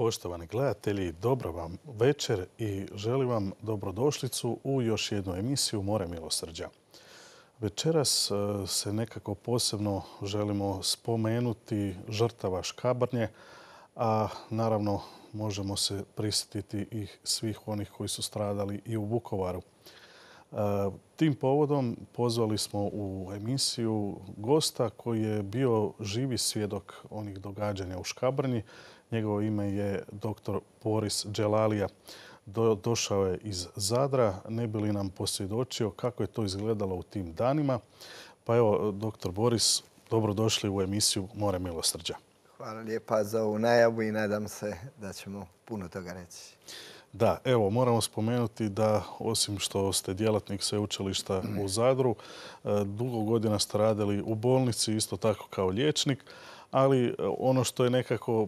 Poštovani gledatelji, dobro vam večer i želim vam dobrodošlicu u još jednu emisiju More milosrđa. Večeras se nekako posebno želimo spomenuti žrtava Škabrnje, a naravno možemo se prisjetiti i svih onih koji su stradali i u Vukovaru. Tim povodom pozvali smo u emisiju gosta koji je bio živi svjedok onih događanja u Škabrnji. Njegovo ime je dr. Boris Dželalija. Došao je iz Zadra, ne bi li nam posvjedočio kako je to izgledalo u tim danima. Pa evo, dr. Boris, dobrodošli u emisiju More milosrđa. Hvala lijepa za ovu najavu i nadam se da ćemo puno toga reći. Da, evo, moramo spomenuti da osim što ste djelatnik sveučilišta u Zadru, dugo godina ste radili u bolnici, isto tako kao liječnik, ali ono što je nekako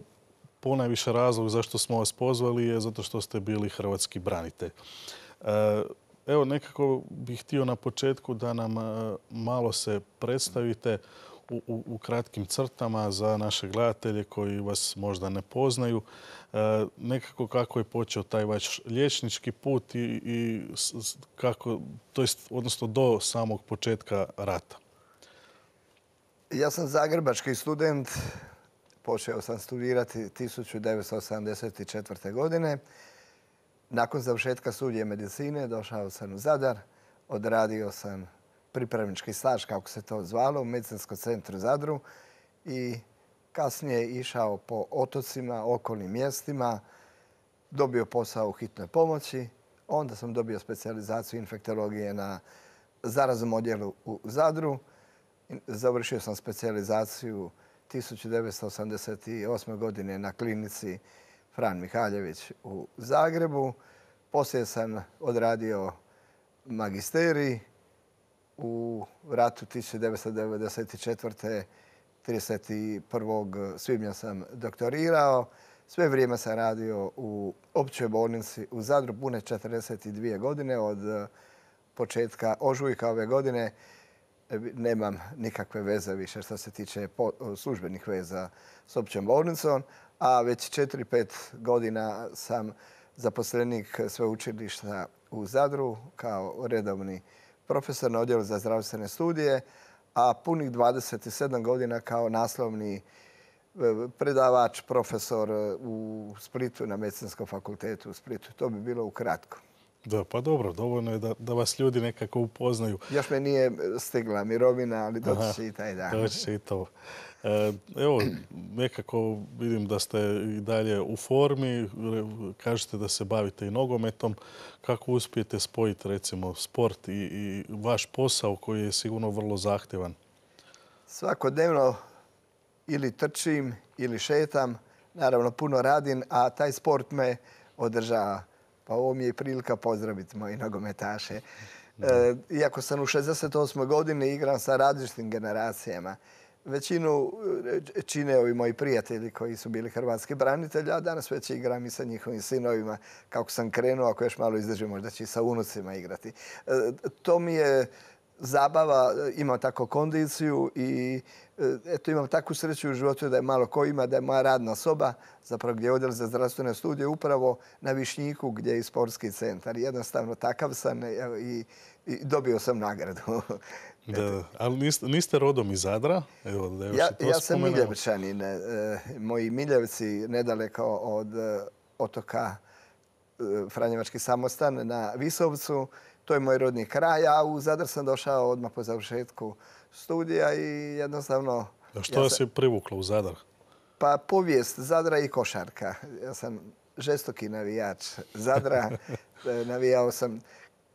ponajviše razlog zašto smo vas pozvali je zato što ste bili hrvatski branitelj. Evo, nekako bih htio na početku da nam malo se predstavite u kratkim crtama za naše gledatelje koji vas možda ne poznaju. Nekako kako je počeo taj vaš liječnički put i kako, to jest, odnosno do samog početka rata. Ja sam zagrebački student. Počeo sam studirati 1984. godine. Nakon završetka studija medicine došao sam u Zadar. Odradio sam pripravnički staž, kako se to zvalo, u medicinskom centru Zadru i kasnije išao po otocima, okolnim mjestima, dobio posao u hitnoj pomoći. Onda sam dobio specijalizaciju infektologije na zaraznom odjelu u Zadru. Završio sam specijalizaciju 1988. godine na klinici Fran Mihaljević u Zagrebu. Poslije sam odradio magisterij. U ratu 1994. 31. svibnja sam doktorirao. Sve vrijeme sam radio u općoj bolnici u Zadru, pune 42 godine. Od početka ožujka ove godine nemam nikakve veze više što se tiče službenih veza s općom bolnicom, a već 4-5 godina sam zaposlenik sveučilišta u Zadru kao redovni profesor na odjelu za zdravstvene studije, a punih 27 godina kao naslovni predavač, profesor u Splitu na Medicinskom fakultetu u Splitu. To bi bilo ukratko. Da, pa dobro, dovoljno je da vas ljudi nekako upoznaju. Još me nije stigla mirovina, ali doći će i taj dan. Doći će i to. Evo, nekako vidim da ste i dalje u formi. Kažete da se bavite i nogometom. Kako uspijete spojiti, recimo, sport i vaš posao koji je sigurno vrlo zahtjevan? Svakodnevno ili trčim ili šetam. Naravno, puno radim, a taj sport me održava. Pa ovo mi je prilika pozdraviti moji nogometaše. Iako sam u 68. godini igram sa različitim generacijama. Većinu čine ovi moji prijatelji koji su bili hrvatski branitelji, a danas već igram i sa njihovim sinovima. Kako sam krenuo, ako još malo izdržim, možda će i sa unucima igrati. To mi je zabava, imam tako kondiciju i eto, imam takvu sreću u životu da je malo ko ima, da je moja radna soba, zapravo gdje je odjel za zdravstvene studije, upravo na Višnjiku gdje je i sportski centar. Jednostavno takav sam i dobio sam nagradu. Da, ali niste rodom iz Zadra? Evo, da ja sam Miljevčanin. Moji Miljevci nedaleko od otoka Franjevački Samostan na Visovcu. To je moj rodni kraj, a u Zadar sam došao odmah po završetku studija i jednostavno... A što vas je privuklo u Zadar? Pa povijest Zadra i košarka. Ja sam žestoki navijač Zadra. Navijao sam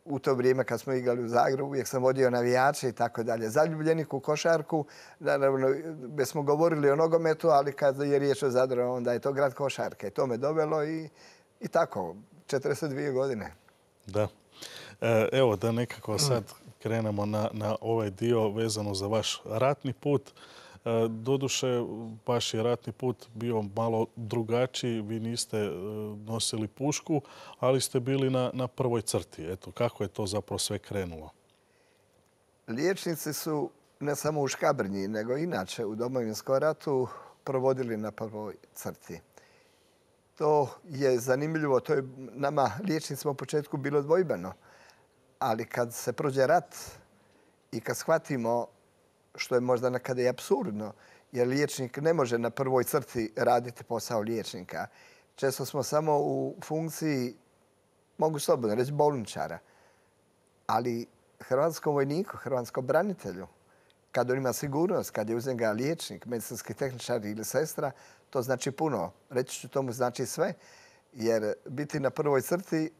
u to vrijeme kad smo igrali u Zagrebu, uvijek sam vodio navijače i tako dalje. Zaljubljenik u košarku, naravno, već smo govorili o nogometu, ali kad je riječ o Zadru, onda je to grad košarke. To me dovelo i tako, 42 godine. Da. Evo da nekako sad krenemo na ovaj dio vezano za vaš ratni put. Doduše, vaš je ratni put bio malo drugačiji. Vi niste nosili pušku, ali ste bili na prvoj crti. Eto, kako je to zapravo sve krenulo? Liječnici su ne samo u Škabrnji, nego inače u Domovinskom ratu provodili na prvoj crti. To je zanimljivo, to je nama liječnicima u početku bilo dvojbeno. Ali kad se prođe rat i kad shvatimo, što je možda nekada i apsurdno, jer liječnik ne može na prvoj crti raditi posao liječnika. Često smo samo u funkciji, mogu slobodno reći, bolničara. Ali hrvatskom vojniku, hrvatskom branitelju, kad on ima sigurnost, kad je uz njega liječnik, medicinski tehničar ili sestra, to znači puno. Reći ću, tomu znači sve. Jer biti na prvoj crti,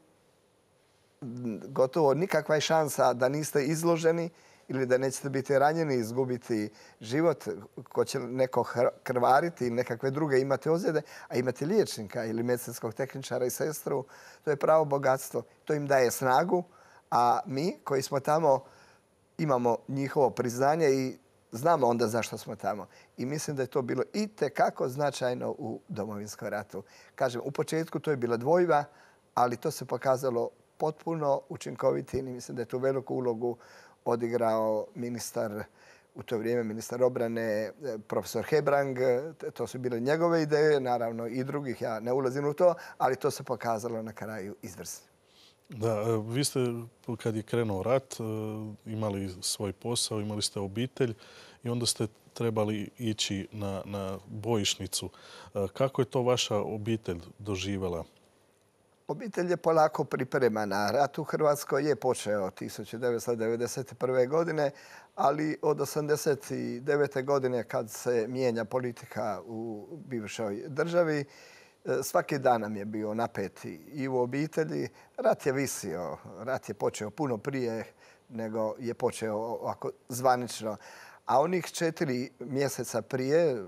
gotovo nikakva je šansa da niste izloženi ili da nećete biti ranjeni, izgubiti život, ko će neko krvariti ili nekakve druge imate ozljede, a imate liječnika ili medicinskog tehničara i sestru, to je pravo bogatstvo. To im daje snagu, a mi koji smo tamo imamo njihovo priznanje i znamo onda zašto smo tamo. I mislim da je to bilo itekako značajno u Domovinskom ratu. Kažem, u početku to je bila dvojba, ali to se pokazalo potpuno učinkovitim i mislim da je tu veliku ulogu odigrao ministar, u to vrijeme ministar obrane, profesor Hebrang. To su bile njegove ideje, naravno i drugih, ja ne ulazim u to, ali to se pokazalo na kraju izvrsno. Da, vi ste, kad je krenuo rat, imali svoj posao, imali ste obitelj i onda ste trebali ići na bojišnicu. Kako je to vaša obitelj doživjela? Obitelj je polako pripremana. Rat u Hrvatskoj je počeo 1991. godine, ali od 1989. godine kad se mijenja politika u bivšoj državi, svaki dan nam je bio napet i u obitelji. Rat je visio. Rat je počeo puno prije nego je počeo ovako zvanično. A onih 4 mjeseca prije,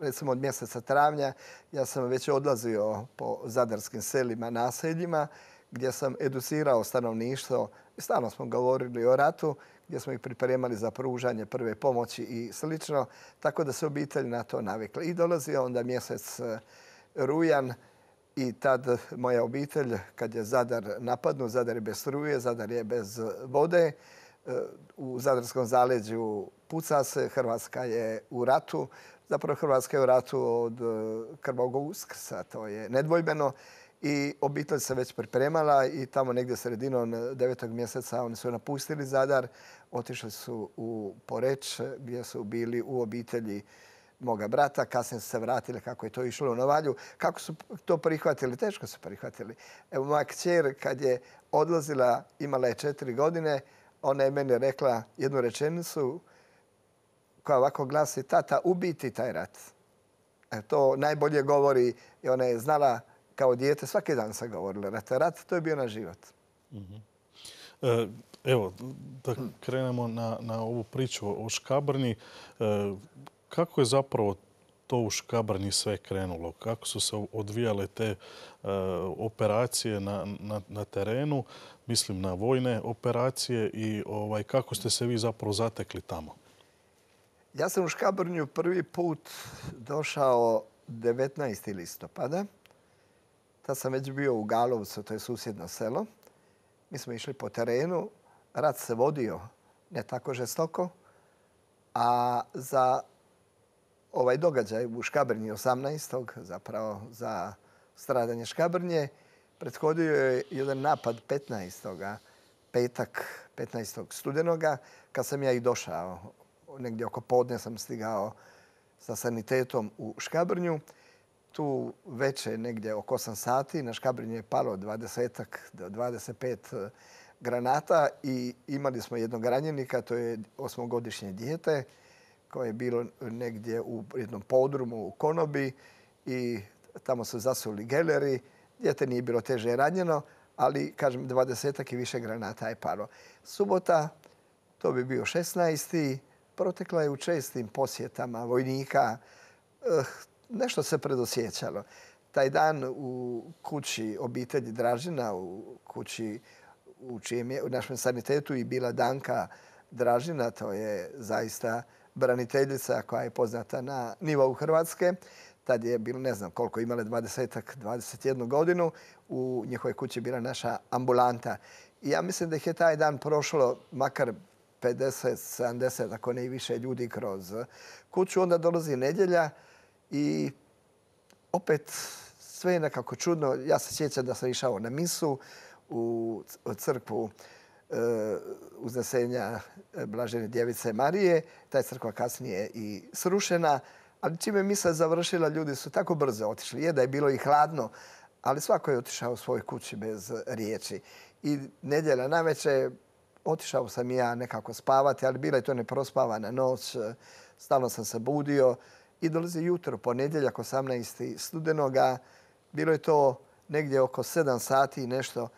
recimo od mjeseca travnja, ja sam već odlazio po zadarskim selima, naseljima, gdje sam educirao stanovništvo. Stalno smo govorili o ratu, gdje smo ih pripremali za pružanje prve pomoći i slično, tako da se obitelj na to navikla. I dolazio onda mjesec rujan i tad moja obitelj, kad je Zadar napadnut, Zadar je bez struje, Zadar je bez vode, u Zadarskom zaleđu puca se, Hrvatska je u ratu. Zapravo Hrvatska je u ratu od krvavog Uskrsa, to je nedvojbeno. I obitelj se već pripremala i tamo negdje sredinom 9. mjeseca oni su napustili Zadar, otišli su u Poreč gdje su bili u obitelji moga brata. Kasnije su se vratili kako je to išlo u Novalju. Kako su to prihvatili? Teško su prihvatili. Evo, moja kćer kad je odlazila, imala je 4 godine, ona je meni rekla jednu rečenicu koja ovako glasi: tata, ubiti taj rat. To najbolje govori i ona je znala kao dijete, svaki dan se govorila rat. Rat, to je bio naš život. Evo, da krenemo na ovu priču o Škabrnji. Kako je zapravo to u Škabrnji sve krenulo? Kako su se odvijale te operacije na terenu? Mislim na vojne operacije i kako ste se vi zapravo zatekli tamo? Ja sam u Škabrnju prvi put došao 19. listopada. Tad sam već bio u Galovcu, to je susjedno selo. Mi smo išli po terenu. Rat se vodio ne tako žestoko. A za ovaj događaj u Škabrnji 18. zapravo za stradanje Škabrnje prethodio je jedan napad 15. petak 15. studenoga, kad sam ja i došao. Negdje oko podne sam stigao sa sanitetom u Škabrnju. Tu veče, negdje oko 8 sati, na Škabrnju je palo 20 do 25 granata i imali smo jednog ranjenika, to je 8-godišnje dijete koje je bilo negdje u jednom podrumu u konobi i tamo su zasuli geleri. Dijete nije bilo teže ranjeno, ali, kažem, 20 i više granata je palo. Subota, to bi bio 16. protekla je u čestim posjetama vojnika. Nešto se predosjećalo. Taj dan u kući obitelji Dražina, u kući u čijem je u našem sanitetu i bila Danka Dražina, to je zaista braniteljica koja je poznata na nivou Hrvatske. Tad je bilo, ne znam koliko, imale 21 godinu. U njihovoj kući je bila naša ambulanta. I ja mislim da ih je taj dan prošlo makar 50, 70, ako ne i više ljudi kroz kuću. Onda dolazi nedjelja i opet Sve je nekako čudno. Ja se sjećam da sam išao na misu u crkvu Uznesenja Blažene Djevice Marije. Ta je crkva kasnije i srušena. Ali čim je misa završila, ljudi su tako brzo otišli. Je da je bilo i hladno, ali svako je otišao u svojoj kući bez riječi. I nedjelja navečer otišao sam i ja nekako spavati, ali bila je to neprospavana noć. Stalno sam se budio i dolazi jutro, ponedjeljak 18. studenoga. Bilo je to negdje oko 7 sati i nešto.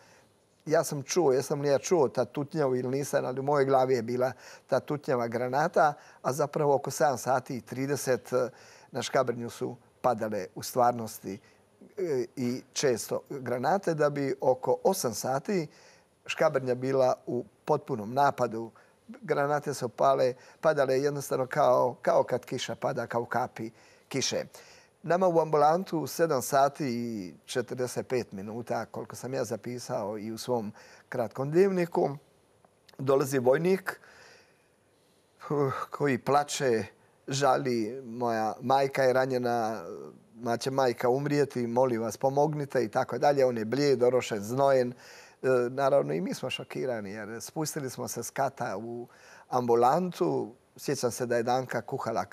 Ja sam čuo, jesam li ja čuo ta tutnjavu ili nisam, ali u mojoj glavi je bila ta tutnjava granata, a zapravo oko 7 sati i 30 na Škabrnju su padale u stvarnosti i često granate, da bi oko 8 sati Škabrnja bila u potpunom napadu. Granate su padale jednostavno kao kad kiša pada, kao kapi kiše. Nama u ambulantu u 7 sati i 45 minuta, koliko sam ja zapisao i u svom kratkom dnevniku, dolazi vojnik koji plače, žali, moja majka je ranjena, će majka umrijeti, molim vas pomognite i tako dalje. On je blijed, orošen, znojen. Naravno i mi smo šokirani jer spustili smo se s kata u ambulantu. Sjećam se da je Danka kuhala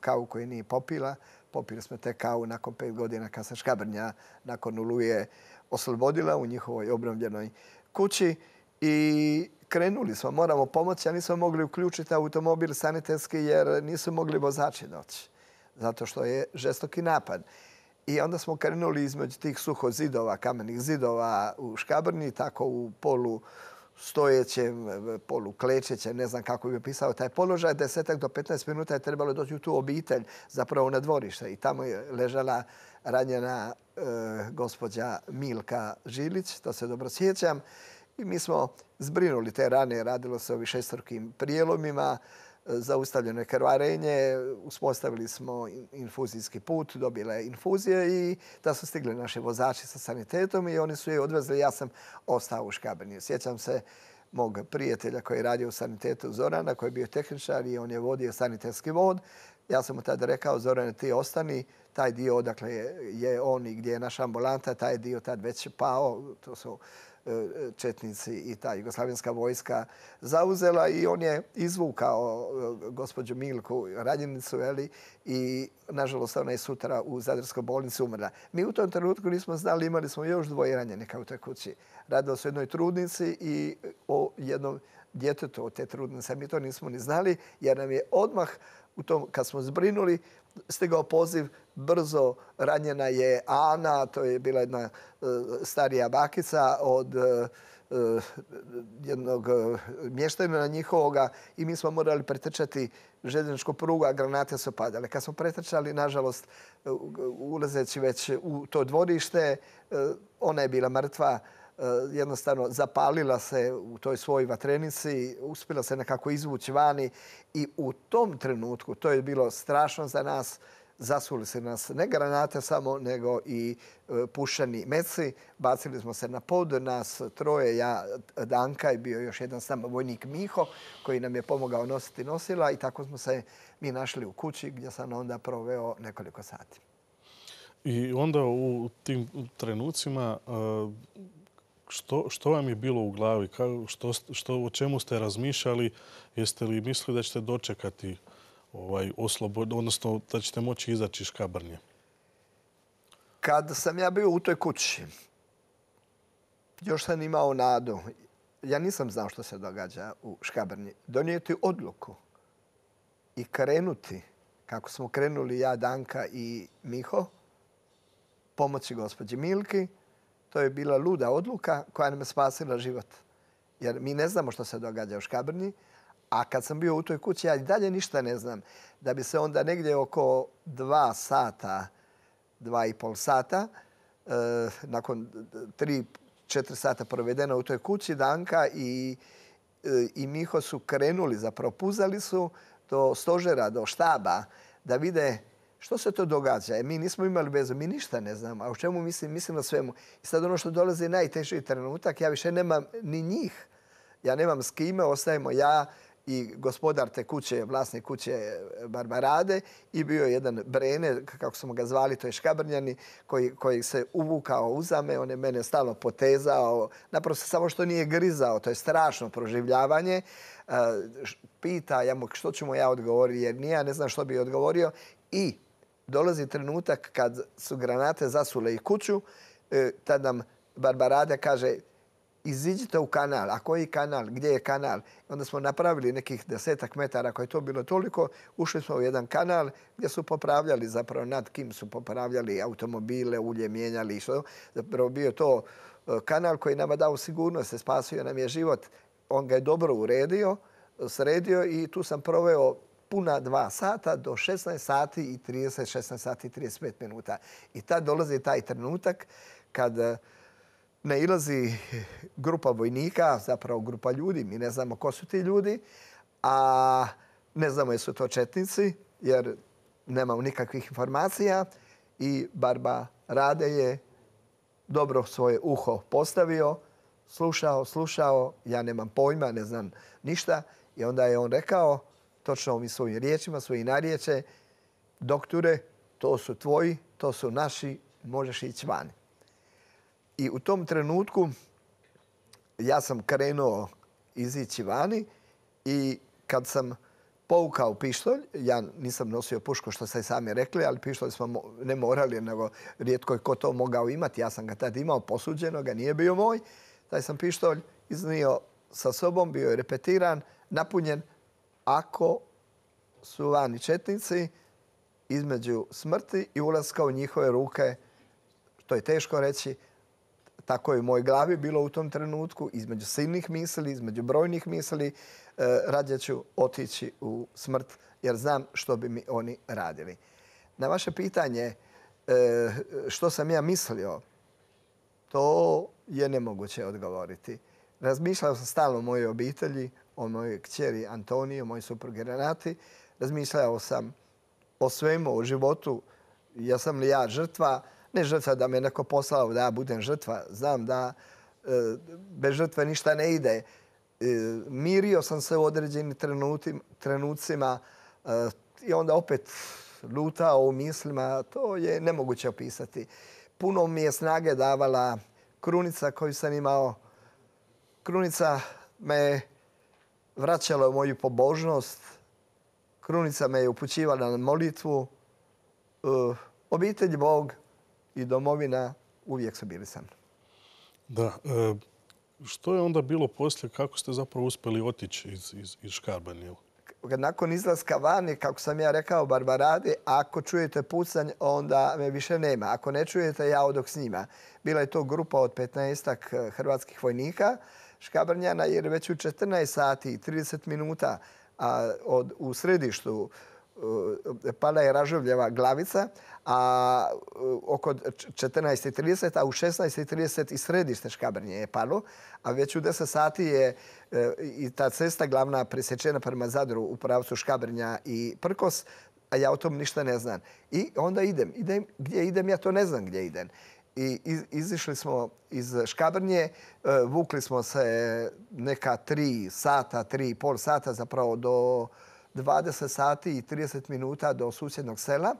kavu koju nije popila. Popili smo te kavu nakon 5 godina kad se Škabrnja nakon Oluje oslobodila u njihovoj obnovljenoj kući. I krenuli smo, moramo pomoći, a nismo mogli uključiti automobil sanitetski jer nisu mogli vozači doći. Zato što je žestoki napad. I onda smo krenuli između tih suhozidova, kamenih zidova u Škabrnji, tako u polu stojećem, polu klečećem, ne znam kako bi opisao taj položaj. 10 do 15 minuta je trebalo doći u tu obitelj, zapravo na dvorište. I tamo je ležala ranjena gospođa Milka Žilić, to se dobro sjećam. I mi smo zbrinuli te rane, radilo se o višestrukim prijelomima, zaustavljeno je krvarenje, uspostavili smo infuzijski put, dobila je infuzije i da su stigli naši vozači sa sanitetom i oni su je odvezli. Ja sam ostao u Škabrnji. Sjećam se mog prijatelja koji je radio u sanitetu, Zorana, koji je bio tehničar i on je vodio sanitetski vod. Ja sam mu tada rekao, Zorane, ti ostani, taj dio odakle je on i gdje je naša ambulanta, taj dio tad već pao, to su četnici i ta jugoslavenska vojska zauzela i on je izvukao gospođu Milku, ranjenicu, i nažalost ona je sutra u Zadarskoj bolnici umrla. Mi u tom trenutku nismo znali, imali smo još 2 ranjenika u toj kući. Radilo se o jednoj trudnici i o jednom djetetu od te trudnice. Mi to nismo ni znali jer nam je odmah kad smo zbrinuli stigao poziv, brzo ranjena je Ana, to je bila jedna starija bakica od jednog mještanina njihovoga i mi smo morali pretrčati željezničku prugu, a granate su padale. Kad smo pretrčali, nažalost, ulazeći već u to dvorište, ona je bila mrtva. Jednostavno zapalila se u toj svojoj vatrenici, uspjela se nekako izvući vani i u tom trenutku, to je bilo strašno za nas, zasuli se nas ne granate samo, nego i pušeni meci. Bacili smo se na pod, nas 3, ja, Danka i bio još jedan sam vojnik Miho koji nam je pomogao nositi nosila i tako smo se mi našli u kući gdje sam onda proveo nekoliko sati. I onda u tim trenucima što vam je bilo u glavi? O čemu ste razmišljali? Jeste li mislili da ćete dočekati odnosno da ćete moći izaći iz Škabrnje? Kad sam ja bio u toj kući, još sam imao nadu. Ja nisam znao što se događa u Škabrnji. Donijeti odluku i krenuti, kako smo krenuli ja, Danka i Miho, pomoći gospođi Milki, to je bila luda odluka koja nam je spasila život. Jer mi ne znamo što se događa u Škabrnji, a kad sam bio u toj kući, ja i dalje ništa ne znam. Da bi se onda negdje oko 2 sata, 2,5 sata, nakon 3-4 sata provedena u toj kući, Danka i Miho su krenuli, zapravo puzali su do stožera, do štaba, da vide što se to događa. Mi nismo imali vezu, mi ništa ne znamo. A o čemu mislim? Mislim na svemu. I sad ono što dolazi je najteži trenutak, ja više nemam ni njih. Ja nemam s kime, ostajemo ja i gospodar te kuće, vlasnik kuće Barbarade, i bio je jedan Brene, kako smo ga zvali, to je Škabrnjani, koji se uvukao uzame, on je mene stalno potezao, naprosto samo što nije grizao, to je strašno proživljavanje. Pita što ću mu ja odgovoriti, jer nije, ne znam što bi odgovorio. I dolazi trenutak kad su granate zasule i kuću, tad nam Barbarada kaže: iziđite u kanal. A koji kanal? Gdje je kanal? Onda smo napravili nekih 10 metara, ako je to bilo toliko. Ušli smo u jedan kanal gdje su popravljali, zapravo nad kim su popravljali automobile, ulje mijenjali i što. Zapravo bio to kanal koji nama dao sigurnost, spasio nam je život. On ga je dobro sredio i tu sam proveo puna 2 sata do 16 sati i 30, 16 sati i 35 minuta. I tad dolazi taj trenutak kad nailazi grupa vojnika, zapravo grupa ljudi. Mi ne znamo ko su ti ljudi, a ne znamo jesu to četnici, jer nemamo nikakvih informacija. I Barbarade je dobro svoje uho postavio, slušao, ja nemam pojma, ne znam ništa. I onda je on rekao, točno mi svojim riječima, svojim narječe: doktore, to su tvoji, to su naši, možeš ići vani. I u tom trenutku ja sam krenuo izići vani i kad sam povukao pištolj, ja nisam nosio pušku što ste sami rekli, ali pištolj smo ne morali, nego rijetko je ko to mogao imati. Ja sam ga tad imao posuđenoga, nije bio moj. Taj sam pištolj iznio sa sobom, bio je repetiran, napunjen. Ako su vani četnici, između smrti i ulaska u njihove ruke, to je teško reći, tako je u mojoj glavi bilo u tom trenutku, između silnih misli, između brojnih misli, rađe ću otići u smrt jer znam što bi mi oni radili. Na vaše pitanje što sam ja mislio, to je nemoguće odgovoriti. Razmišljao sam stalno o mojoj obitelji, o mojoj kćeri Antoniji, o mojoj suprugi Renati. Razmišljao sam o svemu, o životu. Jesam li ja žrtva? Ne žrtva da me neko poslao da ja budem žrtva. Znam da bez žrtve ništa ne ide. Mirio sam se u određenim trenucima i onda opet lutao u mislima. To je nemoguće opisati. Puno mi je snage davala krunica koju sam imao. Krunica me vraćala u moju pobožnost. Krunica me je upućivala na molitvu. Obitelj, Bog i domovina uvijek su bili sa mnom. Da. Što je onda bilo poslije? Kako ste zapravo uspjeli otići iz Škabrnje? Nakon izlaska vani, kako sam ja rekao Barbaradi, ako čujete pucanj, onda me više nema. Ako ne čujete, ja odoh s njima. Bila je to grupa od 15 hrvatskih vojnika Škabrnjana, jer već u 14 sati i 30 minuta u središtu pala je Ražovljeva glavica, a oko 14:30, a u 16:30 i središte Škabrnje je palo, a već u 10 sati je i ta cesta glavna presječena prema Zadru u pravcu Škabrnja i Prkos, a ja o tom ništa ne znam. I onda idem. Gdje idem, ja to ne znam gdje idem. I izišli smo iz Škabrnje, vukli smo se neka 3,5 sata zapravo do 20 sati i 30 minuta do susjednog sela,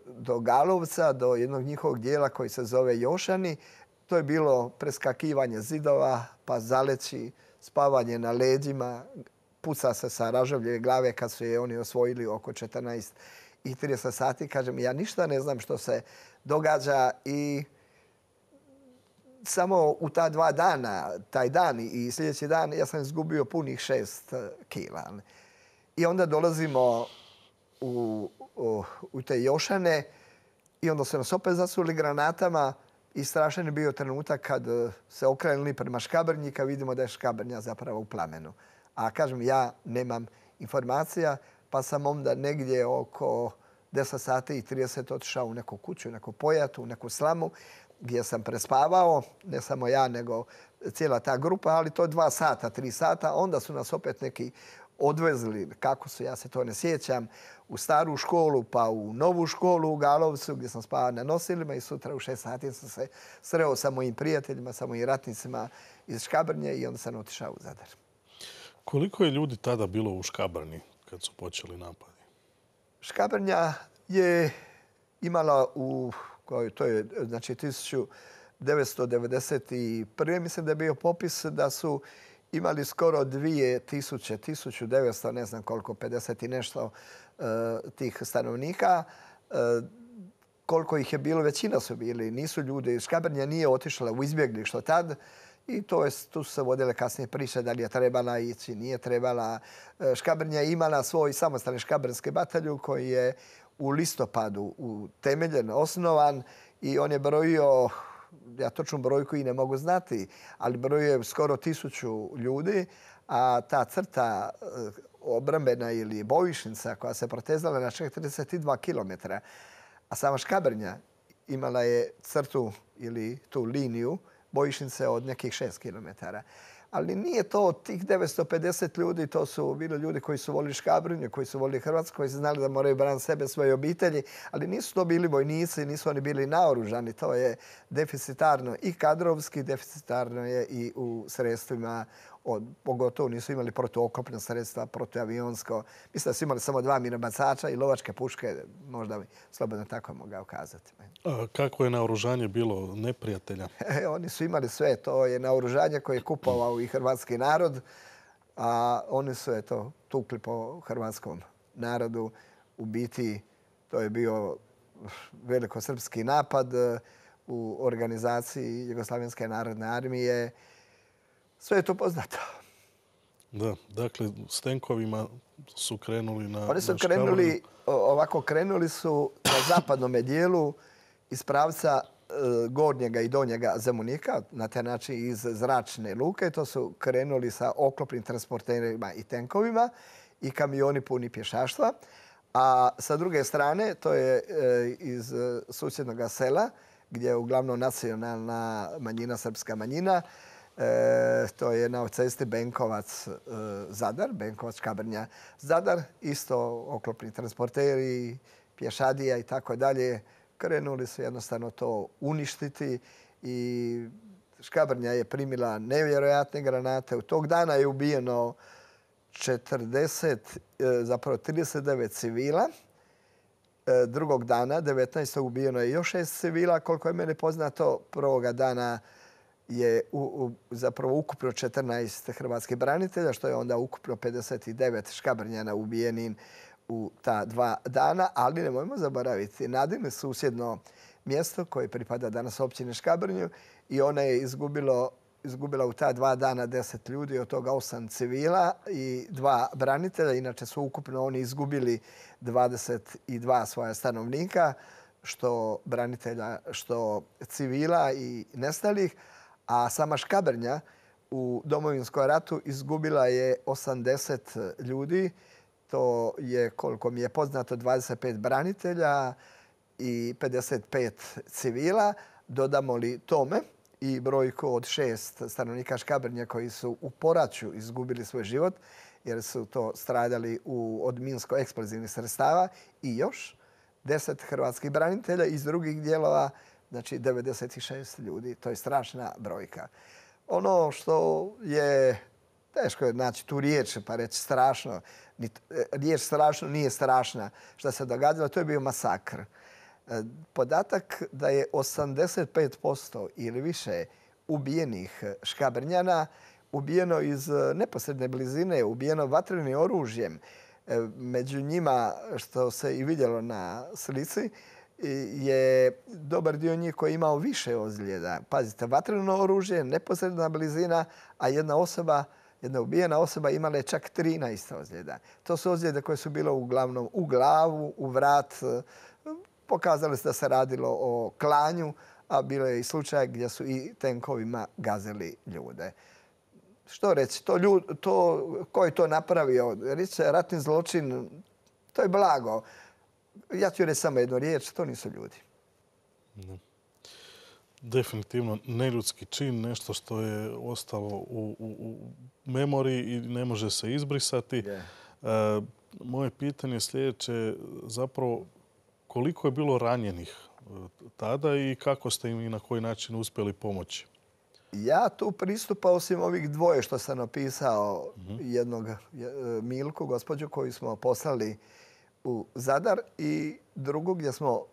do Galovca, do jednog njihovog dijela koji se zove Jošani. To je bilo preskakivanje zidova, pa zaleći, spavanje na leđima, puca se sa Ražovljeve glave kad su je oni osvojili oko 14:30 sati. Kažem, ja ništa ne znam što se događa i samo u ta 2 dana, taj dan i sljedeći dan, ja sam izgubio punih 6 kila. I onda dolazimo u te Jošane i onda su nas opet zasuli granatama i strašan je bio trenutak kad se okrenuli prema Škabrnji, kad vidimo da je Škabrnja zapravo u plamenu. A kažem, ja nemam informacija, pa sam onda negdje oko 10:30 otišao u neku kuću, u neku pojatu, u neku slamu, gdje sam prespavao, ne samo ja, nego cijela ta grupa, ali to 2 sata, 3 sata. Onda su nas opet neki odvezli, kako su, ja se to ne sjećam, u staru školu, pa u novu školu u Galovcu, gdje sam spavao na nosilima i sutra u 6 sati sam se sreo sa mojim prijateljima, sa mojim ratnicima iz Škabrnje i onda sam otišao u Zadar. Koliko je ljudi tada bilo u Škabrnji kad su počeli napadi? Škabrnja je imala to je znači 1991. mislim da je bio popis da su imali skoro 2000, 1900, ne znam koliko, 50 i nešto tih stanovnika. Koliko ih je bilo, većina su bili. Nisu ljudi. Škabrnja nije otišla u izbjeglištvo tad. I tu su se vodile kasnije priče da li je trebala ići, nije trebala. Škabrnja je imala svoj samostalni škabrnski bataljon koji je u listopadu utemeljen, osnovan i on je brojio, ja točnu brojku i ne mogu znati, ali brojio je skoro 1000 ljudi, a ta crta obrambena ili bojišnica koja se protezala na 42 kilometra, a sama Škabrnja imala je crtu ili tu liniju bojišnice od nekih 6 kilometara. Ali nije to tih 950 ljudi, to su bili ljudi koji su volili Škabrnju, koji su volili Hrvatsku, koji su znali da moraju braniti sebe, svoje obitelji, ali nisu to bili vojnici, nisu oni bili naoružani. To je deficitarno i kadrovski, deficitarno je i u sredstvima, pogotovo nisu imali protuoklopna sredstva, protuavionsko. Mislim da su imali samo 2 minobacača i lovačke puške, možda bi slobodno tako mogao kazati. A kako je naoružanje bilo neprijatelja? Oni su imali sve. To je naoružanje koje je kupovao i hrvatski narod, a oni su tukli po hrvatskom narodu. U biti to je bio velikosrpski napad u organizaciji Jugoslavenske narodne armije. Sve je to poznato. Da, dakle, s tenkovima su krenuli na Oni su krenuli su na zapadnom dijelu iz pravca gornjega i donjega Zemunika, na taj način iz zračne luke. To su krenuli sa oklopnim transporterima i tenkovima i kamioni puni pješaštva. A sa druge strane, to je iz susjednog sela, gdje je uglavnom nacionalna manjina, srpska manjina. To je na cesti Benkovac-Zadar, Benkovac-Škabrnja-Zadar. Isto oklopni transporteri, pješadija i tako dalje. Krenuli su jednostavno to uništiti i Škabrnja je primila nevjerojatne granate. U tog dana je ubijeno 39 civila. Drugog dana, 19. ubijeno je još 6 civila. Koliko je meni poznato, prvoga dana je zapravo ukupno 14 hrvatskih branitelja, što je onda ukupno 59 Škabrnjana ubijenim u ta 2 dana. Ali nemojmo zaboraviti, Nadin je susjedno mjesto koje pripada danas općini Škabrnju i ona je izgubila u ta 2 dana 10 ljudi, od toga 8 civila i 2 branitelja. Inače su ukupno oni izgubili 22 svoja stanovnika, što branitelja, što civila i nestalih. A sama Škabrnja u Domovinskom ratu izgubila je 80 ljudi. To je, koliko mi je poznato, 25 branitelja i 55 civila. Dodamo li tome i brojku od 6 stanovnika Škabrnje koji su u poraću izgubili svoj život, jer su to stradali od minsko-eksplozivnih sredstava, i još 10 hrvatskih branitelja iz drugih dijelova, znači 96 ljudi. To je strašna brojka. Ono što je, teško je naći tu riječ pa reći strašno, riječ strašno nije strašna što se događalo, to je bio masakr. Podatak da je 85% ili više ubijenih Škabrnjana ubijeno iz neposredne blizine, ubijeno vatrenim oružjem. Među njima, što se i vidjelo na slici, je dobar dio njih koji je imao više ozljeda. Pazite, vatreno oružje, neposredna blizina, a jedna ubijena osoba imala je čak 13 ozljeda. To su ozljede koje su bile uglavnom u glavu, u vrat. Pokazalo se da se radilo o klanju, a bilo je i slučaj gdje su i tenkovima gazili ljude. Što reći? Ko je to napravio? Ratni zločin, to je blago. Ja ću reći samo jednu riječ, to nisu ljudi. Definitivno neljudski čin, nešto što je ostalo u memoriji i ne može se izbrisati. Moje pitanje je sljedeće, zapravo koliko je bilo ranjenih tada i kako ste im i na koji način uspjeli pomoći? Ja tu pristupao osim ovih dvoje što sam opisao, jednog Milku, gospođu koju smo poslali u Zadar i drugog gdje smo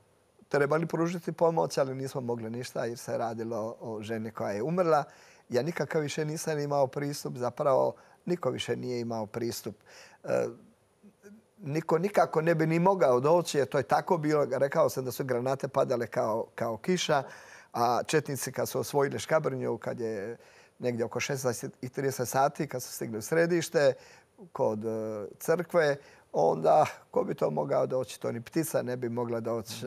trebali pružiti pomoć, ali nismo mogli ništa jer se radilo o ženi koja je umrla. Ja nikakav više nisam imao pristup, zapravo niko više nije imao pristup. Niko nikako ne bi ni mogao doći jer to je tako bilo. Rekao sam da su granate padale kao kiša, a četnici kad su osvojili Škabrnju, kad je negdje oko 16:30 sati, kad su stigli u središte kod crkve, onda ko bi to mogao doći? To ni ptica ne bi mogla doći.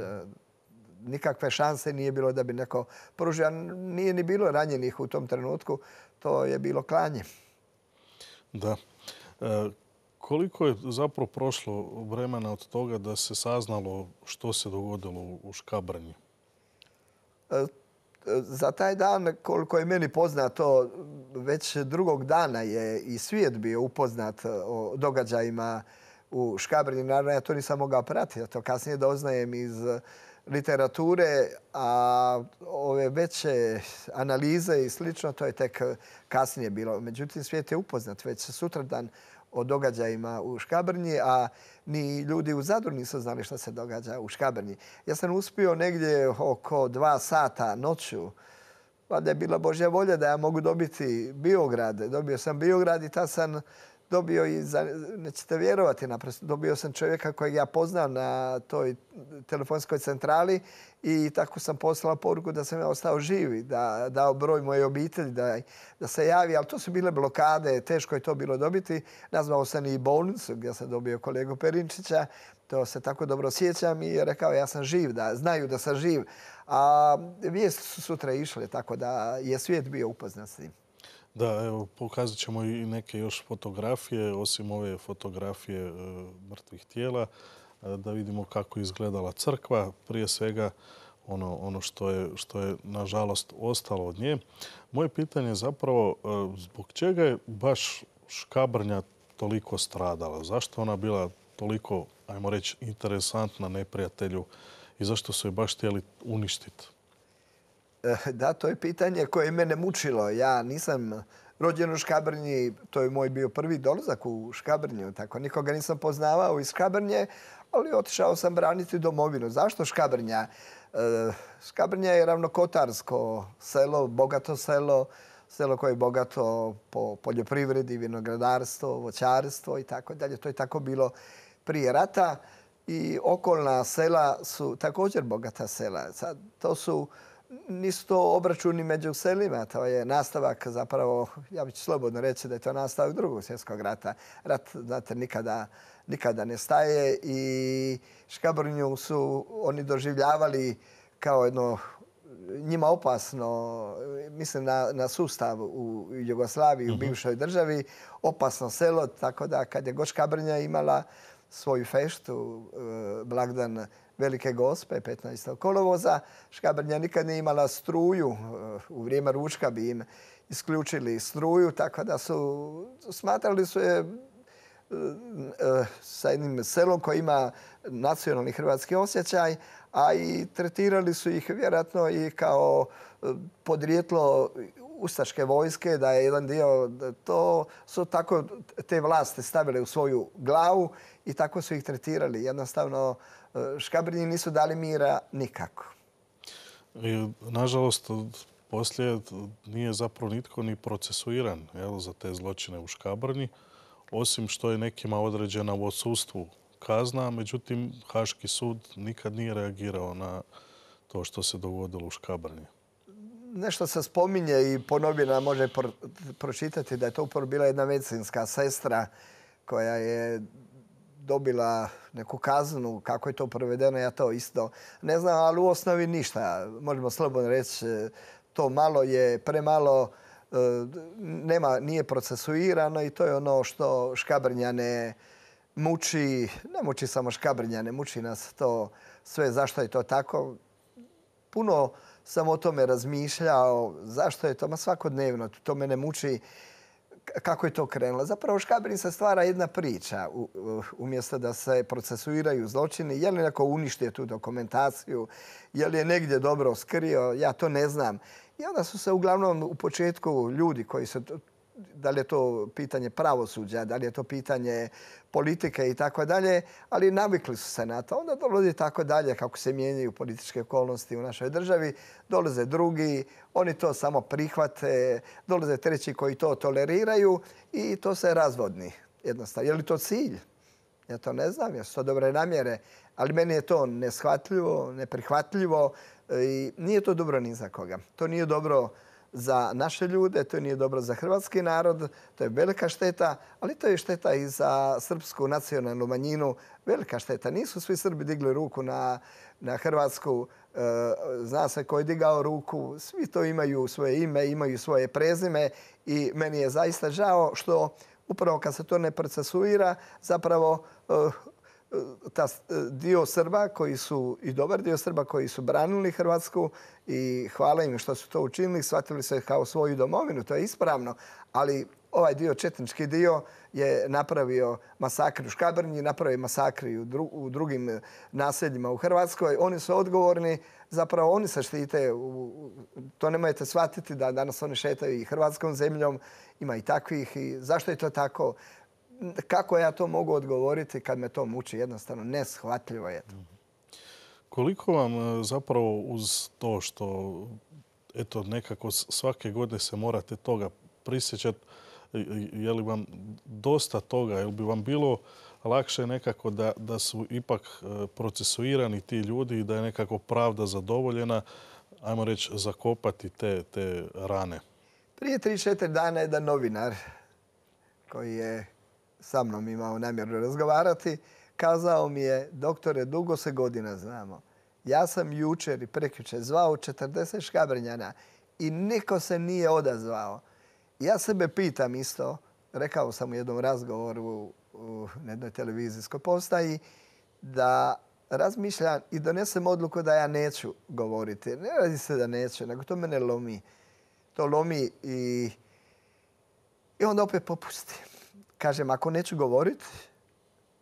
Nikakve šanse nije bilo da bi neko pružio. Nije ni bilo ranjenih u tom trenutku. To je bilo klanje. Da. Koliko je zapravo prošlo vremena od toga da se saznalo što se dogodilo u Škabrnji? Za taj dan, koliko je meni poznato, već drugog dana je i svijet bio upoznat o događajima u Škabrnji. Naravno, ja to nisam mogao pratiti. To kasnije doznajem iz literature, a ove veće analize i slično, to je tek kasnije bilo. Međutim, svijet je upoznat već sutradan o događajima u Škabrnji, a ni ljudi u Zadru nisu znali što se događa u Škabrnji. Ja sam uspio negdje oko 2 sata noću, pa da je bila Božja volja da ja mogu dobiti Biograd. Dobio sam Biograd i tad sam dobio i, nećete vjerovati, naprosto dobio sam čovjeka kojeg ja poznam na toj telefonskoj centrali i tako sam poslao poruku da sam ja ostao živ, da dao broj moje obitelji, da se javi, ali to su bile blokade, teško je to bilo dobiti. Nazvao sam i bolnicu gdje sam dobio kolegu Perinčića, to se tako dobro sjećam i rekao ja sam živ, da znaju da sam živ. A vijesti su sutra išle, tako da je svijet bio upoznat s tim. Da, evo, pokazat ćemo i neke još fotografije, osim ove fotografije mrtvih tijela, da vidimo kako je izgledala crkva. Prije svega ono što je nažalost ostalo od nje. Moje pitanje je zapravo zbog čega je baš Škabrnja toliko stradala? Zašto ona bila toliko, ajmo reći, interesantna neprijatelju i zašto su je baš htjeli uništiti? Da, to je pitanje koje je mene mučilo. Ja nisam rođen u Škabrnji, to je moj bio prvi dolazak u Škabrnju, tako nikoga nisam poznavao iz Škabrnje, ali otišao sam braniti domovinu. Zašto Škabrnja? Škabrnja je ravnokotarsko selo, bogato selo, selo koje je bogato po poljoprivredi, vinogradarstvo, voćarstvo i tako dalje. To je tako bilo prije rata i okolna sela su također bogata sela. Sad, nisu to obračuni među selima, to je nastavak zapravo, ja bih slobodno reći da je to nastavak Drugog svjetskog rata. Rat, znate, nikada ne staje i Škabrnju su oni doživljavali kao jedno njima opasno, mislim na sustav u Jugoslaviji, u bivšoj državi, opasno selo, tako da kad je god Škabrnja imala svoju feštu, blagdan Velike Gospe, 15. kolovoza. Škabrnja nikad nije imala struju. U vrijeme ručka bi im isključili struju, tako da smatrali su je sa jednim selom koji ima nacionalni hrvatski osjećaj, a i tretirali su ih vjerojatno i kao podrijetlo ustaške vojske, da je jedan dio, to su tako te vlasti stavile u svoju glavu i tako su ih tretirali. Jednostavno, Škabrnji nisu dali mira nikako. I, nažalost, poslije nije zapravo nitko ni procesuiran za te zločine u Škabrnji, osim što je nekima određena u odsustvu kazna, međutim, Haški sud nikad nije reagirao na to što se dogodilo u Škabrnji. Nešto se spominje i po novinama može pročitati da je to upravo bila jedna medicinska sestra koja je dobila neku kaznu. Kako je to provedeno, ja to isto ne znam, ali u osnovi ništa. Možemo slobodno reći, to malo je premalo, nije procesuirano i to je ono što Škabrnjane muči. Ne muči samo Škabrnjane, muči nas to sve. Zašto je to tako? Puno sam o tome razmišljao. Zašto je to? Ma svakodnevno to mene muči. Kako je to krenulo? Zapravo u Škabrnji se stvara jedna priča umjesto da se procesuiraju zločini. Je li neko uništio tu dokumentaciju? Je li je negdje dobro skrio? Ja to ne znam. I onda su se uglavnom u početku ljudi koji su, da li je to pitanje pravosuđa, da li je to pitanje politike i tako dalje, ali navikli su se na to. Onda dolazi tako dalje kako se mijenjaju političke okolnosti u našoj državi. Dolaze drugi, oni to samo prihvate, dolaze treći koji to toleriraju i to se razvodni jednostavno. Je li to cilj? Ja to ne znam, jesu to dobre namjere, ali meni je to neshvatljivo, neprihvatljivo i nije to dobro ni za koga. To nije dobro za naše ljude, to nije dobro za hrvatski narod, to je velika šteta, ali to je šteta i za srpsku nacionalnu manjinu. Velika šteta. Nisu svi Srbi digli ruku na Hrvatsku. Zna se ko je digao ruku. Svi to imaju svoje ime, imaju svoje prezime i meni je zaista žao što upravo kad se to ne procesuira, zapravo dio Srba koji su, i dobar dio Srba koji su branili Hrvatsku i hvala im što su to učinili, shvatili se kao svoju domovinu, to je ispravno, ali ovaj dio, četnički dio, je napravio masakr u Škabrnji, napravio masakri u drugim naseljima u Hrvatskoj. Oni su odgovorni, zapravo oni se štite. To nemojte shvatiti da danas oni šetaju i hrvatskom zemljom. Ima i takvih. I zašto je to tako? Kako ja to mogu odgovoriti kad me to muči? Jednostavno neshvatljivo je to. Koliko vam zapravo uz to što eto nekako svake godine se morate toga prisjećati, je li vam dosta toga, je li bi vam bilo lakše nekako da su ipak procesuirani ti ljudi i da je nekako pravda zadovoljena, ajmo reći, zakopati te rane? Prije 3-4 dana jedan novinar koji je sa mnom imao namjeru razgovarati, kazao mi je: doktore, dugo se godina znamo. Ja sam jučer i prekjučer zvao 40 Škabrnjana i niko se nije odazvao. Ja sebe pitam isto, rekao sam u jednom razgovoru na jednoj televizijskoj postaji, da razmišljam i donesem odluku da ja neću govoriti. Ne radi se da neću, nego to mene lomi. To lomi i onda opet popustim. Kažem, ako neću govoriti,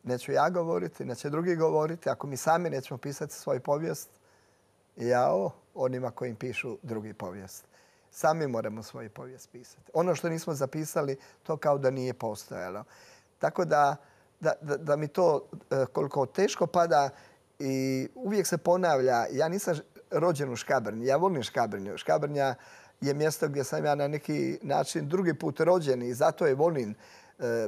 neću ja govoriti, neće drugi govoriti. Ako mi sami nećemo pisati svoju povijest, jao onima koji im pišu drugi povijest. Sami moramo svoju povijest pisati. Ono što nismo zapisali, to kao da nije postojalo. Tako da mi to koliko teško pada i uvijek se ponavlja. Ja nisam rođen u Škabrnji, ja volim Škabrnju. Škabrnja je mjesto gdje sam ja na neki način drugi put rođen i zato je volim.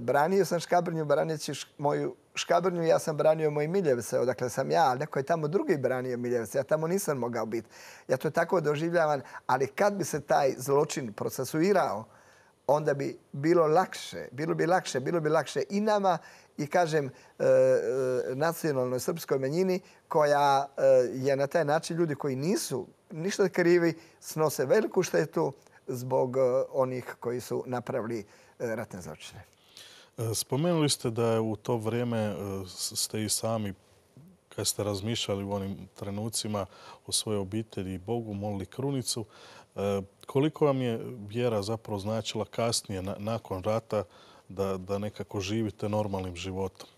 Branio sam Škabrnju, braneći moju Škabrnju, ja sam branio moje Miljevce, odakle sam ja, ali neko je tamo drugi branio Miljevce. Ja tamo nisam mogao biti. Ja to tako doživljavam, ali kad bi se taj zločin procesuirao, onda bi bilo lakše. Bilo bi lakše i nama i, kažem, nacionalnoj srpskoj manjini koja je na taj način, ljudi koji nisu ništa krivi, snose veliku štetu zbog onih koji su napravili ratne zločine. Spomenuli ste da je u to vrijeme ste i sami, kad ste razmišljali u onim trenucima o svojoj obitelji i Bogu, molili krunicu. Koliko vam je vjera zapravo značila kasnije, nakon rata, da nekako živite normalnim životom?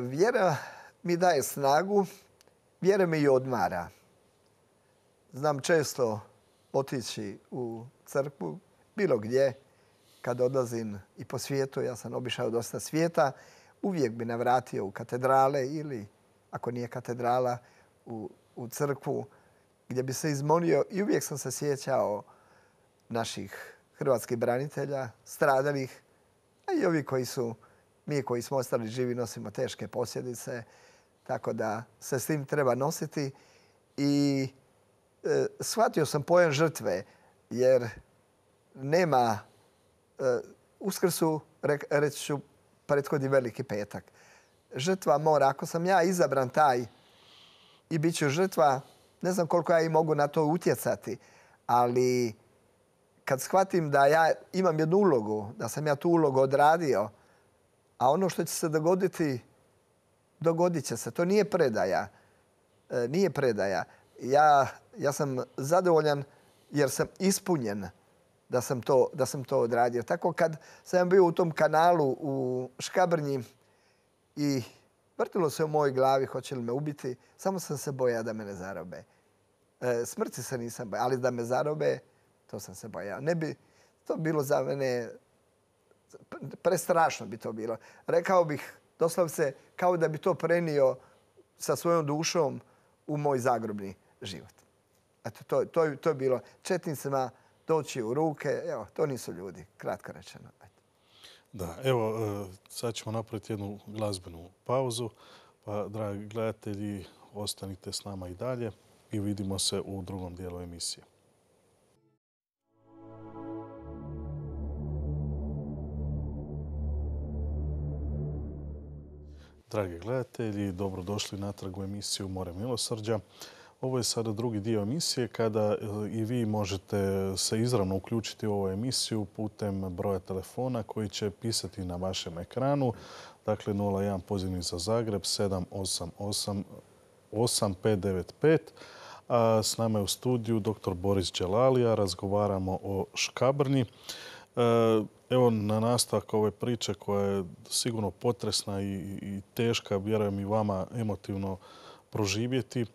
Vjera mi daje snagu, vjera me i odmara. Znam često otići u crkvu, bilo gdje, kad odlazim i po svijetu, ja sam obišao dosta svijeta, uvijek bi navratio u katedrale ili, ako nije katedrala, u crkvu gdje bi se izmolio i uvijek sam se sjećao naših hrvatskih branitelja, stradalih, a i ovi mi koji smo ostali živi nosimo teške posljedice, tako da se s tim treba nositi. I shvatio sam pojam žrtve, jer nema Uskrsu, reći ću, prethodi Veliki petak. Žrtva mora, ako sam ja izabran taj i bit ću žrtva, ne znam koliko ja i mogu na to utjecati, ali kad shvatim da ja imam jednu ulogu, da sam ja tu ulogu odradio, a ono što će se dogoditi, dogodit će se. To nije predaja. Nije predaja. Ja sam zadovoljan jer sam ispunjen da sam to odradio. Tako kad sam bio u tom kanalu u Škabrnji i vrtilo se u mojoj glavi hoće li me ubiti, samo sam se bojao da me ne zarobe. Smrti se nisam bojao, ali da me zarobe, to sam se bojao. Ne bi to bilo za mene, prestrašno bi to bilo. Rekao bih doslovce kao da bi to prenio sa svojom dušom u moj zagrobni život. Eto, to je bilo četnicima doći u ruke. Evo, to nisu ljudi, kratko rečeno. Da, evo, sad ćemo napraviti jednu glazbenu pauzu. Pa, dragi gledatelji, ostanite s nama i dalje i vidimo se u drugom dijelu emisije. Dragi gledatelji, dobrodošli natrag u emisiju More milosrđa. Ovo je sada drugi dio emisije kada i vi možete se izravno uključiti u ovu emisiju putem broja telefona koji će pisati na vašem ekranu. Dakle, 01 pozivni za Zagreb 788 8595. A s nama je u studiju dr. Boris Đelalija. Razgovaramo o Škabrnji. Evo, na nastavak ove priče koja je sigurno potresna i teška, vjerujem i vama emotivno proživjeti,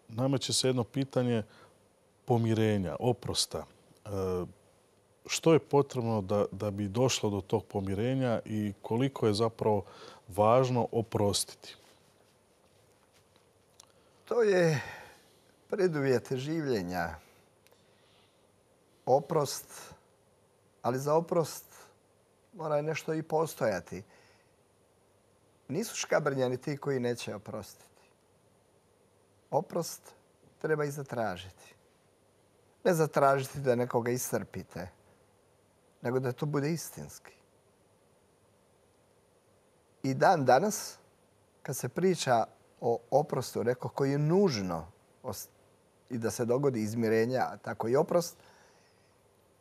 nameće se jedno pitanje pomirenja, oprosta. Što je potrebno da bi došlo do tog pomirenja i koliko je zapravo važno oprostiti? To je preduvjet življenja. Oprost, ali za oprost mora nešto i postojati. Nisu Škabrnjani ti koji neće oprostiti. Oprost treba i zatražiti. Ne zatražiti da nekoga iscrpite, nego da to bude istinski. I dan danas, kad se priča o oprostu, rekao koji je nužno i da se dogodi izmirenja, tako i oprost,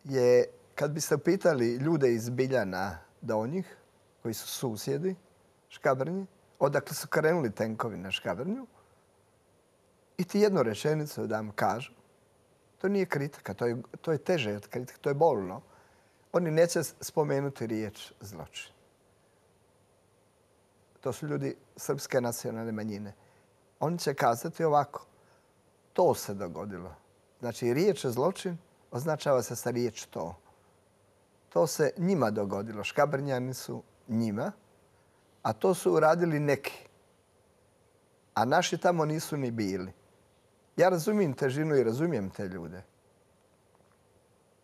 je kad biste pitali ljude iz Biljana Donjih, koji su susjedi Škabrnji, odakle su krenuli tenkovi na Škabrnju, i ti jednu rečenicu da vam kažu, to nije kritika, to je teže od kritike, to je bolno. Oni neće spomenuti riječ zločin. To su ljudi srpske nacionalne manjine. Oni će kazati ovako, to se dogodilo. Znači, riječ zločin označava se sa riječ to. To se njima dogodilo. Škabrnjani su njima, a to su uradili neki. A naši tamo nisu ni bili. Ja razumijem težinu i razumijem te ljude.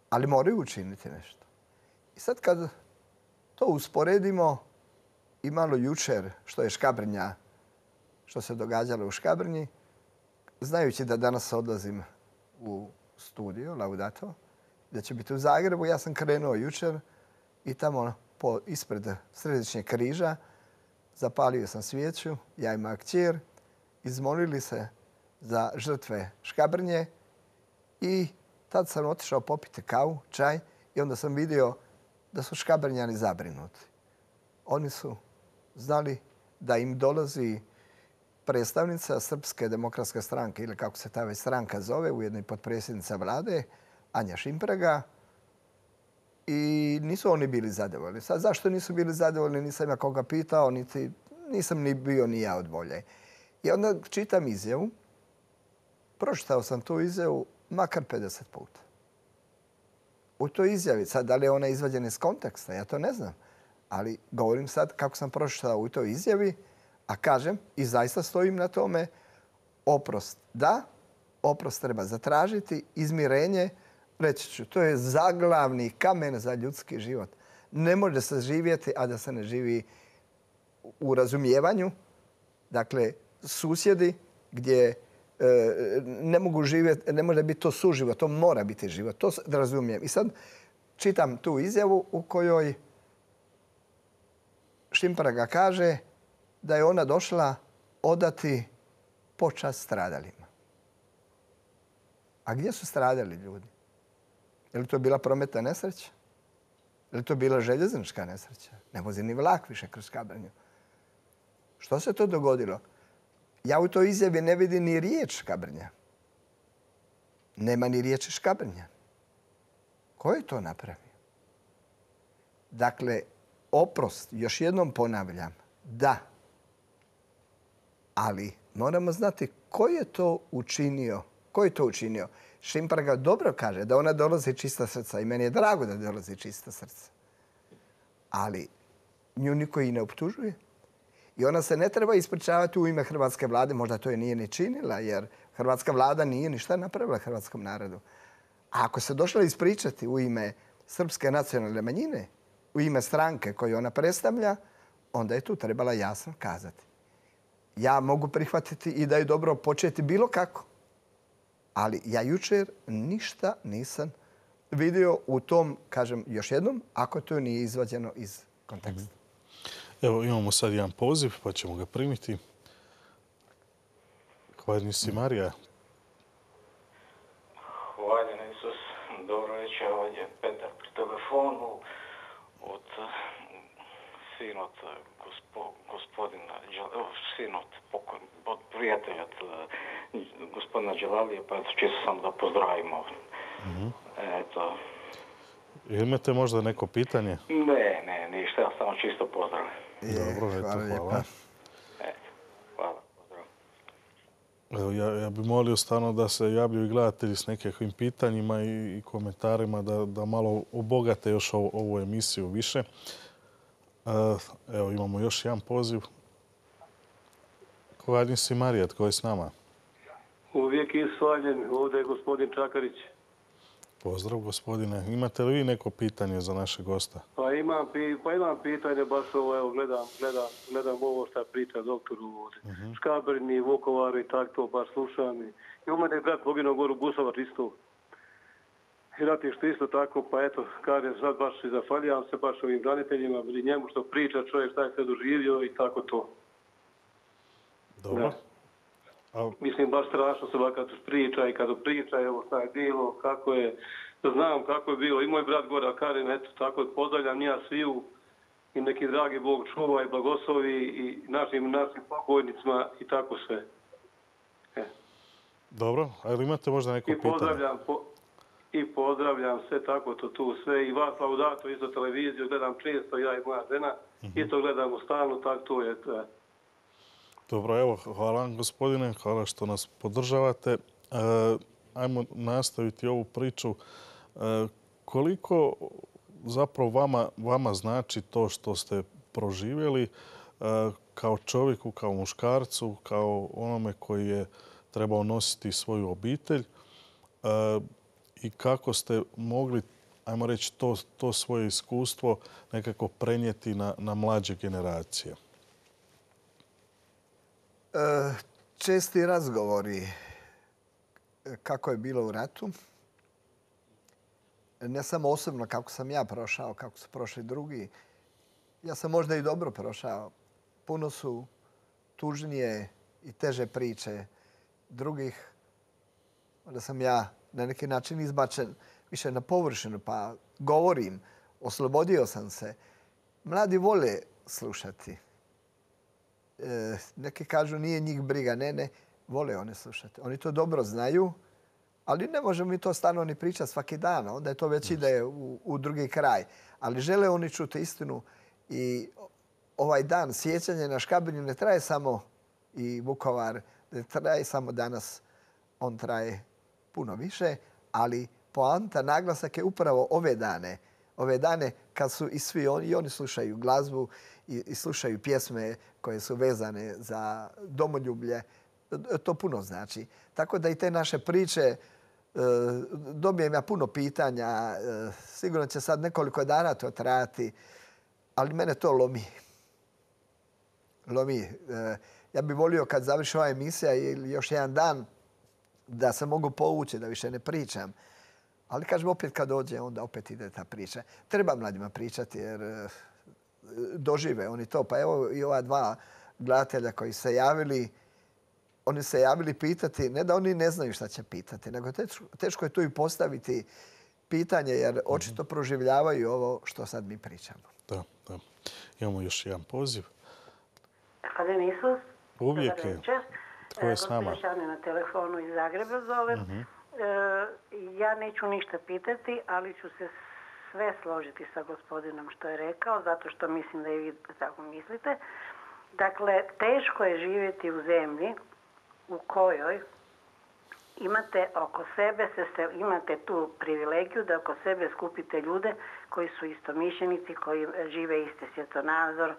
Ali moraju učiniti nešto. I sad kad to usporedimo i malo jučer što je Škabrnja, što se događalo u Škabrnji, znajući da danas odlazim u studio, Laudato, da će biti u Zagrebu, ja sam krenuo jučer i tamo ispred Središnjeg križa zapalio sam svijeću, ja i moja kćer, izmolili se za žrtve Škabrnje i tad sam otišao popiti kavu, čaj i onda sam vidio da su Škabrnjani zabrinuti. Oni su znali da im dolazi predstavnica Srpske demokratske stranke ili kako se ta već stranka zove, ujedno i potpredsjednica vlade, Anja Šimpraga, i nisu oni bili zadovoljni. Sad, zašto nisu bili zadovoljni, nisam ja koga pitao, nisam ni bio ni ja od volje. I onda čitam izjavu, pročitao sam tu izjavu makar 50 puta. U toj izjavi, sad da li je ona izvađena iz konteksta, ja to ne znam. Ali govorim sad kako sam pročitao u toj izjavi, a kažem i zaista stojim na tome, oprost da, oprost treba zatražiti, izmirenje, reći ću, to je zaglavni kamen za ljudski život. Ne može se živjeti, a da se ne živi u razumijevanju. Dakle, susjedi gdje ne mogu živjeti, ne može biti to suživot, to mora biti život. To razumijem. I sad čitam tu izjavu u kojoj Šimpraga kaže da je ona došla odati počast stradalima. A gdje su stradali ljudi? Je li to bila prometna nesreća? Je li to bila željeznička nesreća? Ne vozi ni vlak više kroz Škabrnju. Što se to dogodilo? Ja u toj izjavi ne vidim ni riječ Škabrnja. Nema ni riječi Škabrnja. Ko je to napravio? Dakle, oprost, još jednom ponavljam, da. Ali moramo znati ko je to učinio. Ko je to učinio? Šimpraga dobro kaže da ona dolazi čista srca i meni je drago da dolazi čista srca. Ali nju niko i ne optužuje. I ona se ne treba ispričavati u ime hrvatske vlade, možda to je nije ni činila, jer hrvatska vlada nije ništa napravila hrvatskom narodu. A ako se došla ispričati u ime srpske nacionalne manjine, u ime stranke koju ona predstavlja, onda je tu trebala jasno kazati. Ja mogu prihvatiti i da je dobro početi bilo kako. Ali ja jučer ništa nisam vidio u tom, kažem još jednom, ako to nije izvađeno iz konteksta. Evo, imamo sad jedan poziv, pa ćemo ga primiti. Hvaljen si Marija. Hvaljen Isus. Dobro večer, ovdje je Petar pri telefonu od sinot gospodina, sinot od prijatelja gospodina Đelalije, pa čisto sam da pozdravimo. Eto. Imate možda neko pitanje? Ne, ništa, ja samo čisto pozdrav. Dobro, eto, hvala. Hvala, pozdrav. Evo, ja bih molio stvarno da se javljaju i gledatelji s nekakvim pitanjima i komentarima da malo obogate još ovu emisiju više. Evo, imamo još jedan poziv. Hvaljen si Marija, tko je s nama? Uvijek je svaljen, ovdje je gospodin Čakarić. Pozdrav, gospodine. Imate li vi neko pitanje za našeg gosta? Pa imam pitanje, baš ovo, evo, gledam ovo što priča doktor u Škabrni, Vukovaru i tako to, baš slušam. I u mene je brat poginuo goru Busovac isto. I ratište isto tako, pa eto, kažem, sad baš i zahvaljam se baš ovim braniteljima, i njemu što priča čovjek šta je sve doživio i tako to. Dobro. Mislim, baš strašno se ovakav priča i kada priča, evo šta je bilo, kako je, znam kako je bilo. I moj brat gore, a kažem, eto, tako pozdravljam ja sviju i neki dragi Bog čuva i blagoslovi i našim pokojnicima i tako sve. Dobro, ali imate možda neko pitanje? I pozdravljam sve tako to tu sve i vas laudato isto televiziju gledam često, ja i moja žena, isto gledamo stalno, tako to je. Dobro, evo, hvala vam gospodine, hvala što nas podržavate. Ajmo nastaviti ovu priču. Koliko zapravo vama znači to što ste proživjeli kao čovjeku, kao muškarcu, kao onome koji je trebao nositi svoju obitelj i kako ste mogli, ajmo reći, to svoje iskustvo nekako prenijeti na mlađe generacije? Česti razgovori kako je bilo u ratu. Ne samo osobno kako sam ja prošao, kako su prošli drugi. Ja sam možda i dobro prošao. Puno su tužnije i teže priče drugih. Onda sam ja na neki način izbačen više na površinu, pa govorim, oslobodio sam se. Mladi vole slušati. Neki kažu nije njih briga. Ne, vole one slušati. Oni to dobro znaju, ali ne možemo mi to stalno ni pričati svaki dan. Onda je to već ide u drugi kraj. Ali žele oni čuti istinu i ovaj dan sjećanja na Škabrnju ne traje samo i Vukovar, ne traje samo danas. On traje puno više, ali poanta, naglasak je upravo ove dane. Ove dane kad su i svi oni slušaju glazbu i slušaju pjesme koje su vezane za domoljublje. To puno znači. Tako da i te naše priče, dobijem ja puno pitanja. Sigurno će sad nekoliko dana to trajati, ali mene to lomi. Ja bih volio kad završi ova emisija ili još jedan dan da se mogu povući, da više ne pričam. Ali kažem, opet kad dođe, onda opet ide ta priča. Treba mladima pričati jer dožive oni to. Pa evo i ova dva gledatelja koji se javili, oni se javili pitati, ne da oni ne znaju šta će pitati, nego teško je tu i postaviti pitanje jer očito proživljavaju ovo što sad mi pričamo. Da. Imamo još jedan poziv. Hvala Isus. Uvijek je. Tko je s nama? Gospodin na telefonu iz Zagreba zovem. Ja neću ništa pitati, ali ću se sve složiti sa gospodinom što je rekao, zato što mislim da i vi tako mislite. Dakle, teško je živjeti u zemlji u kojoj imate oko sebe, imate tu privilegiju da oko sebe skupite ljude koji su istomišljenici, koji žive isti svjetonazor,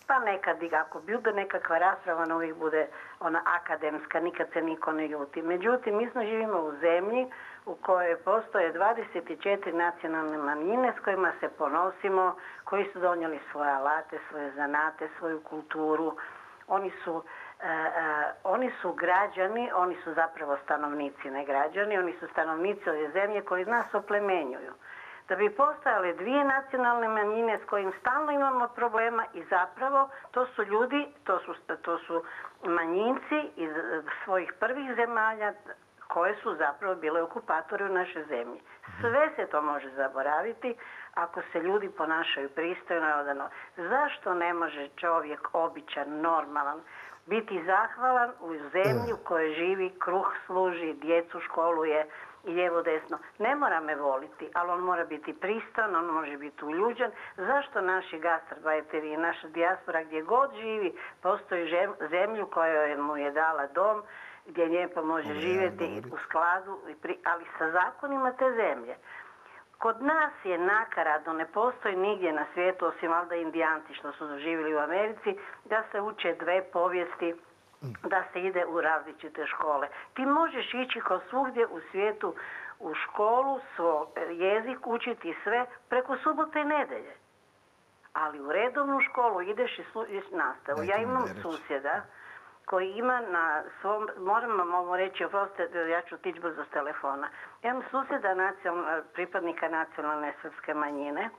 pa nekad, ako bude nekakva rasprava, ona uvijek bude ona akademska, nikad se niko ne ljuti. Međutim, mi živimo u zemlji u kojoj postoje 24 nacionalne manjine s kojima se ponosimo, koji su donijeli svoje alate, svoje zanate, svoju kulturu. Oni su građani, oni su zapravo stanovnici, ne građani, oni su stanovnici ove zemlje koji nas oplemenjuju. Da bi postojale dvije nacionalne manjine s kojim stalno imamo problema i zapravo to su ljudi, to su manjinci iz svojih prvih zemalja koje su zapravo bile okupatori u našoj zemlji. Sve se to može zaboraviti ako se ljudi ponašaju pristojno i odano. Zašto ne može čovjek običan, normalan, biti zahvalan u zemlji u kojoj živi, kruh služi, djecu školuje i lijevo desno? Ne mora me voliti, ali on mora biti pristojan, on može biti uljuđen. Zašto naši gastarbajteri i naša dijaspora gdje god živi postoji zemlju koja mu je dala dom, gdje lijepo može živjeti u skladu, ali sa zakonima te zemlje. Kod nas je nakaradno, ne postoji nigdje na svijetu, osim valjda Indijanci što su živjeli u Americi, da se uče dve povijesti, da se ide u različite škole. Ti možeš ići kao svugdje u svijetu u školu, svoj jezik, učiti sve preko subote i nedelje. Ali u redovnu školu ideš i nastavu. Ja imam susjeda koji ima na svom, moram vam reći, oprostite, ja ću otići brzo s telefona. Imam susjeda pripadnika nacionalne srpske manjine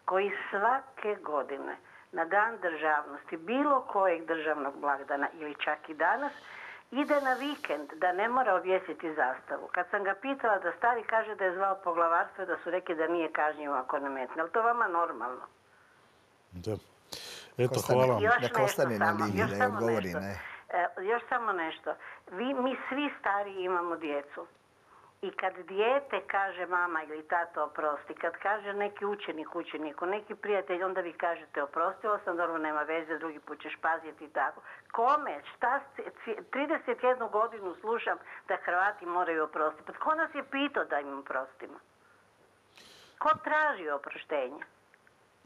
koji svake godine na dan državnosti, bilo kojeg državnog blagdana ili čak i danas, ide na vikend da ne mora objesiti zastavu. Kad sam ga pitala da stari, kaže da je zvao poglavarstvo i da su rekli da nije kažnjivo ako ne metne. Ali to vama normalno? Da. Eto, hvala. Još samo nešto. Mi svi stari imamo djecu. I kad dijete kaže mama ili tato oprosti, kad kaže neki učenik učeniku, neki prijatelj, onda vi kažete oprostila sam, dobro, nema veze, drugi put ćeš paziti i tako. Kome? 31 godinu slušam da Hrvati moraju oprostiti. Pa tko nas je pitao da im oprostimo? Ko traži oproštenje?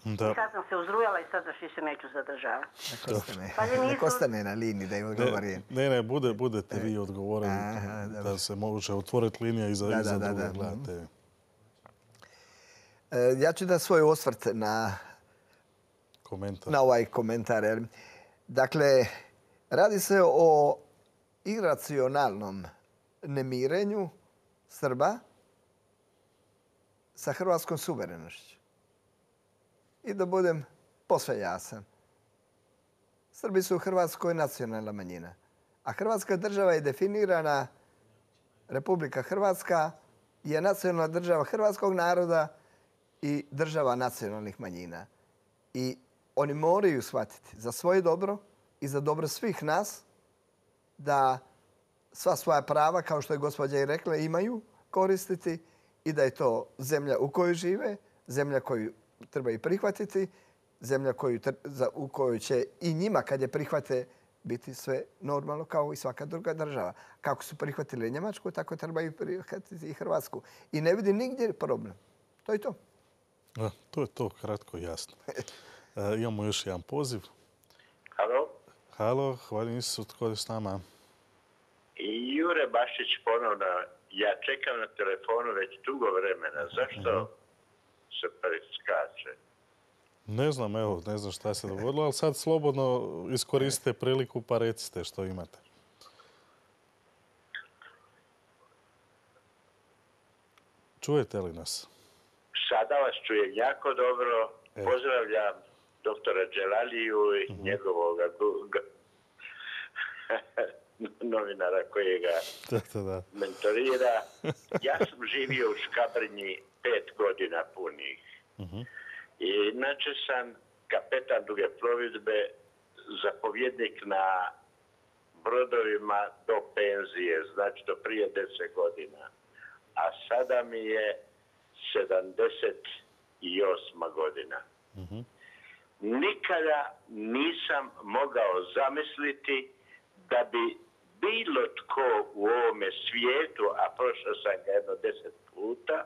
Da. I sad sam se uzrujala i sad više neću zadržavati. Nek ostane na liniji da im odgovori. Ne, budete vi odgovorili da se može otvoriti linija i za druge gledate. Ja ću da svoj osvrt na ovaj komentar. Dakle, radi se o iracionalnom nemirenju Srba sa hrvatskom suverenošću. I da budem posve jasan. Srbi su u Hrvatskoj nacionalna manjina. A Hrvatska država je definirana, Republika Hrvatska je nacionalna država hrvatskog naroda i država nacionalnih manjina. I oni moraju shvatiti za svoje dobro i za dobro svih nas da sva svoja prava, kao što je gospođa i rekla, imaju koristiti i da je to zemlja u kojoj žive, zemlja koju treba i prihvatiti, zemlja u kojoj će i njima, kad je prihvate, biti sve normalno kao i svaka druga država. Kako su prihvatili Njemačku, tako trebaju prihvatiti i Hrvatsku. I ne vidim nigdje problem. To je to. To je to, kratko i jasno. Imamo još jedan poziv. Halo? Halo, hvala Isusu, tko je s nama? Jure Bašić ponovno. Ja čekam na telefonu već dugo vremena. Zašto se preskače? Ne znam, ne znam šta se dogodilo, ali sad slobodno iskoristite priliku pa recite što imate. Čujete li nas? Sada vas čujem jako dobro. Pozdravljam doktora Dželaliju i njegovog novinara koji ga mentorira. Ja sam živio u Škabrnji 5 godina punih. I inače sam kapetan duge plovidbe, zapovjednik na brodovima do penzije, znači do prije 10 godina. A sada mi je 78. godina. Nikada nisam mogao zamisliti da bi bilo tko u ovome svijetu, a prošao sam ga jedno 10 puta,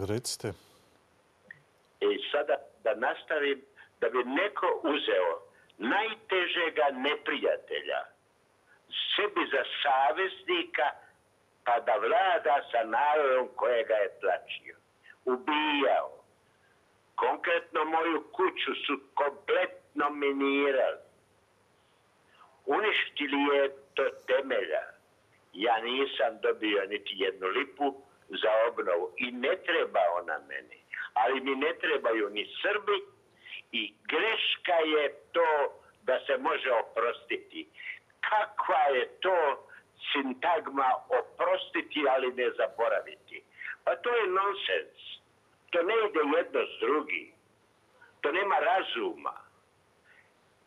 Recite. I sada da nastavim, da bi neko uzeo najtežega neprijatelja sebi za saveznika, pa da vlada sa narodom kojega je tlačio, ubijao. Konkretno moju kuću su kompletno minirali. Uništili je do temelja. Ja nisam dobio niti jednu lipu za obnovu i ne treba ona meni. Ali mi ne trebaju ni Srbi i greška je to da se može oprostiti. Kakva je to sintagma oprostiti, ali ne zaboraviti? Pa to je nonsens. To ne ide jedno s drugim. To nema razuma.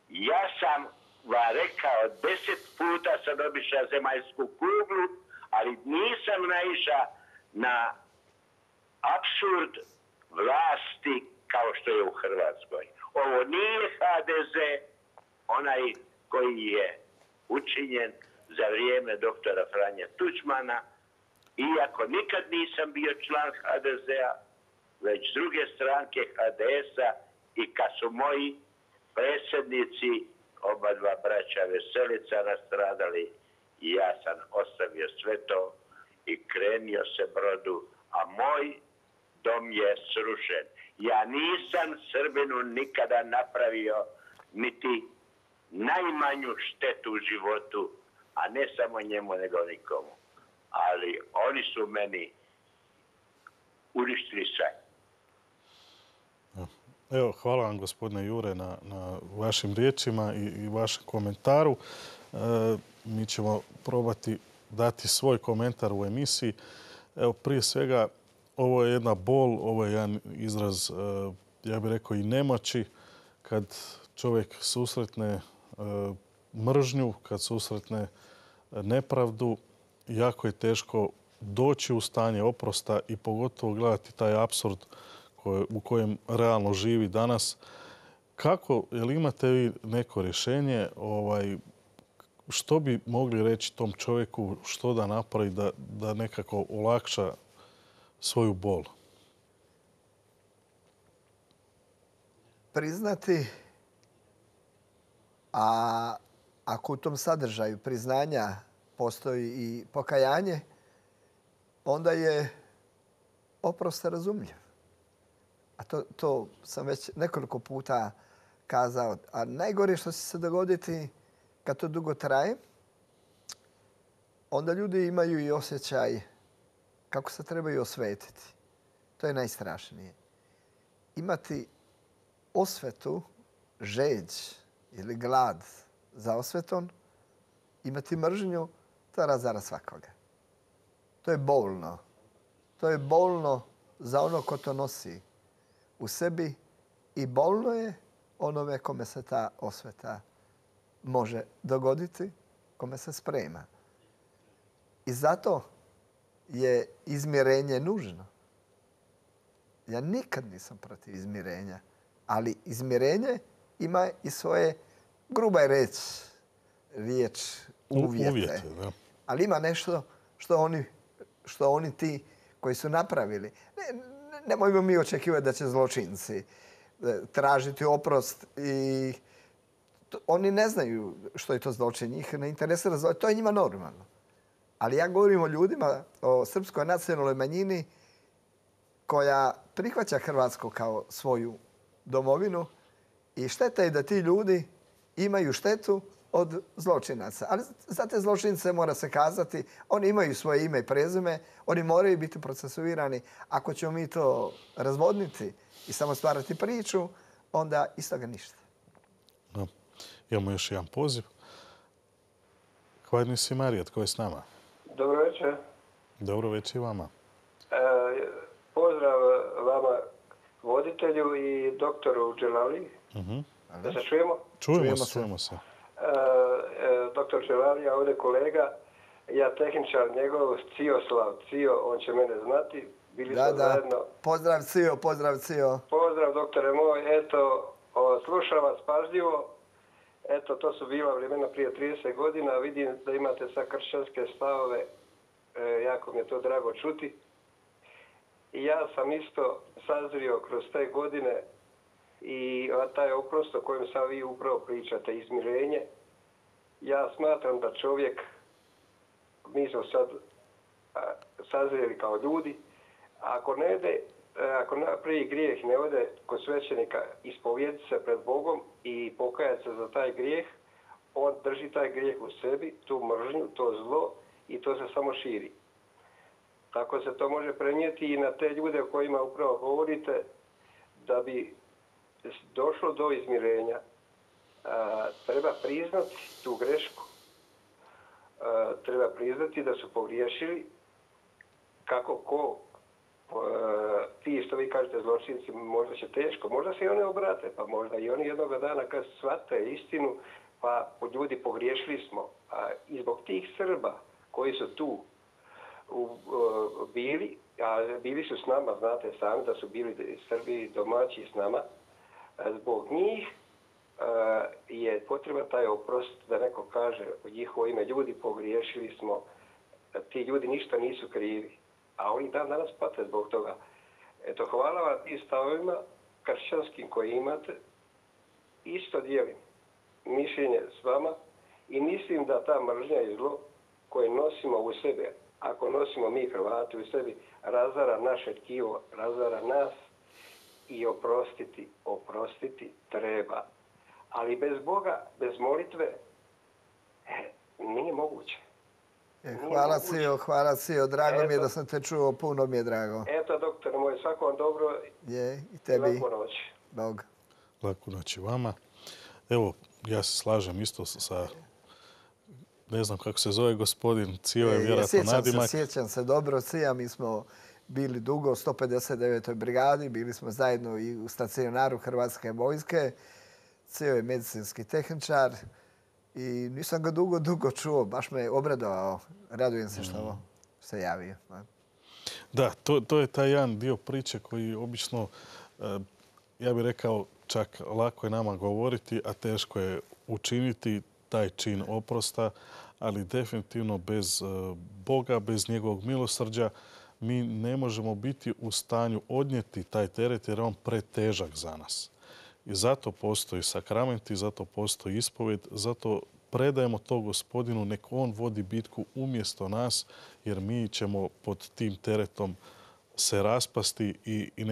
Ja sam vam rekao 10 puta sam obišao zemaljsku kuglu, ali nisam naišao na apsurd vlasti kao što je u Hrvatskoj. Ovo nije HDZ, onaj koji je učinjen za vrijeme doktora Franje Tuđmana, iako nikad nisam bio član HDZ-a, već s druge stranke HDS-a i kad su moji predsjednici, oba dva braća Veselica, nastradali i ja sam ostavio sve to i krenio se brodu, a moj dom je srušen. Ja nisam Srbinu nikada napravio niti najmanju štetu u životu, a ne samo njemu nego nikomu. Ali oni su meni uništili sve. Evo, hvala vam gospodine Jure na vašim riječima i vašem komentaru. Mi ćemo probati dati svoj komentar u emisiji. Evo, prije svega, ovo je jedna bol, ovo je jedan izraz, ja bih rekao, i nemoći kad čovjek susretne mržnju, kad susretne nepravdu, jako je teško doći u stanje oprosta i pogotovo gledati taj apsurd u kojem realno živi danas. Kako, jel imate vi neko rješenje, što bi mogli reći tom čovjeku, što da napravi da nekako olakša svoju bol? Priznati, a ako u tom sadržaju priznanja postoji i pokajanje, onda je oprost razumljiv. A to sam već nekoliko puta kazao. A najgore što će se dogoditi kad to dugo traje, onda ljudi imaju i osjećaj kako se trebaju osvetiti. To je najstrašnije. Imati osvetu, žeđ ili glad za osvetom, imati mržnju, to razara svakoga. To je bolno. To je bolno za ono ko to nosi u sebi i bolno je onome kome se ta osveta može dogoditi, kome se sprema. I zato je izmirenje nužno. Ja nikad nisam protiv izmirenja, ali izmirenje ima i svoje, gruba je riječ, uvjete. Da. Ali ima nešto što oni ti koji su napravili. Nemojmo mi očekivati da će zločinci tražiti oprost i oni ne znaju što je to zločin. Njih ne interesira zločin. To je njima normalno. Ali ja govorim o ljudima, o srpskoj nacionalnoj manjini koja prihvaća Hrvatsku kao svoju domovinu i šteta je da ti ljudi imaju štetu od zločinaca. Ali za te zločince mora se kazati, oni imaju svoje ime i prezime, oni moraju biti procesuirani. Ako ćemo mi to razvodniti i samo stvarati priču, onda iz toga ništa. Da. Imamo još jedan poziv. Hvala si Marija, tko je s nama? Dobro večer. Dobro večer i vama. Pozdrav vama, voditelju i doktoru Dželali. Da se čujemo? Čujemo se. Doktor Dželali, a ovdje kolega, ja tehničar njegov, Cioslav Cio, on će mene znati, Bili smo zajedno. Pozdrav Cio, pozdrav Cio. Pozdrav doktore moj, eto, slušam vas pažljivo. Eto, to su bila vremena prije 30 godina. Vidim da imate sad kršćanske stavove. Jako mi je to drago čuti. I ja sam isto sazrio kroz te godine i taj oprost o kojem sad vi upravo pričate, izmirenje. Ja smatram da čovjek, mi smo sad sazrijeli kao ljudi, ako napravi grijeh, ne ode kod svećenika ispovjediti se pred Bogom i pokajati se za taj grijeh, on drži taj grijeh u sebi, tu mržnju, to zlo i to se samo širi. Tako se to može prenijeti i na te ljude o kojima upravo govorite, da bi došlo do izmirenja. Treba priznati tu grešku. Treba priznati da su pogriješili. Kako ko, ti što vi kažete zločinci, možda će teško, možda se i oni obrate, pa možda i oni jednog dana kad shvate istinu, pa ljudi pogriješili smo. I zbog tih Srba koji su tu bili, a bili su s nama, znate sami da su bili Srbi domaći s nama, zbog njih je potreban taj oprost, da neko kaže u njihovo ime, ljudi pogriješili smo, ti ljudi ništa nisu krivi, a oni danas pate zbog toga. Eto, hvala vam tim stavovima kršćanskim koji imate, isto dijelim mišljenje s vama i mislim da ta mržnja i zlo koje nosimo u sebe, ako nosimo mi Hrvati u sebi, razara naše tkivo, razara nas i oprostiti treba. Ali bez Boga, bez molitve, nije moguće. Hvala Cio, drago mi je da sam te čuo, puno mi je drago. Eto, doktore moj, svako vam dobro i tebi. Laku noć. Bog. Laku noć i vama. Evo, ja se slažem isto sa, ne znam kako se zove gospodin, Cio je vjerojatno nadimak. Sjećam se dobro, Cija, mi smo bili dugo u 159. brigadi, bili smo zajedno i u stacionaru Hrvatske vojske. Cio je medicinski tehničar i nisam ga dugo čuo, baš me obradovao. Radujem se što se javio. Da, to je taj jedan dio priče koji obično, ja bih rekao, čak lako je nama govoriti, a teško je učiniti taj čin oprosta, ali definitivno bez Boga, bez njegovog milosrđa, mi ne možemo biti u stanju odnijeti taj teret jer je on pretežak za nas. I zato postoji sakramenti, zato postoji ispovjed, zato predajemo to Gospodinu, nek on vodi bitku umjesto nas, jer mi ćemo pod tim teretom se raspasti i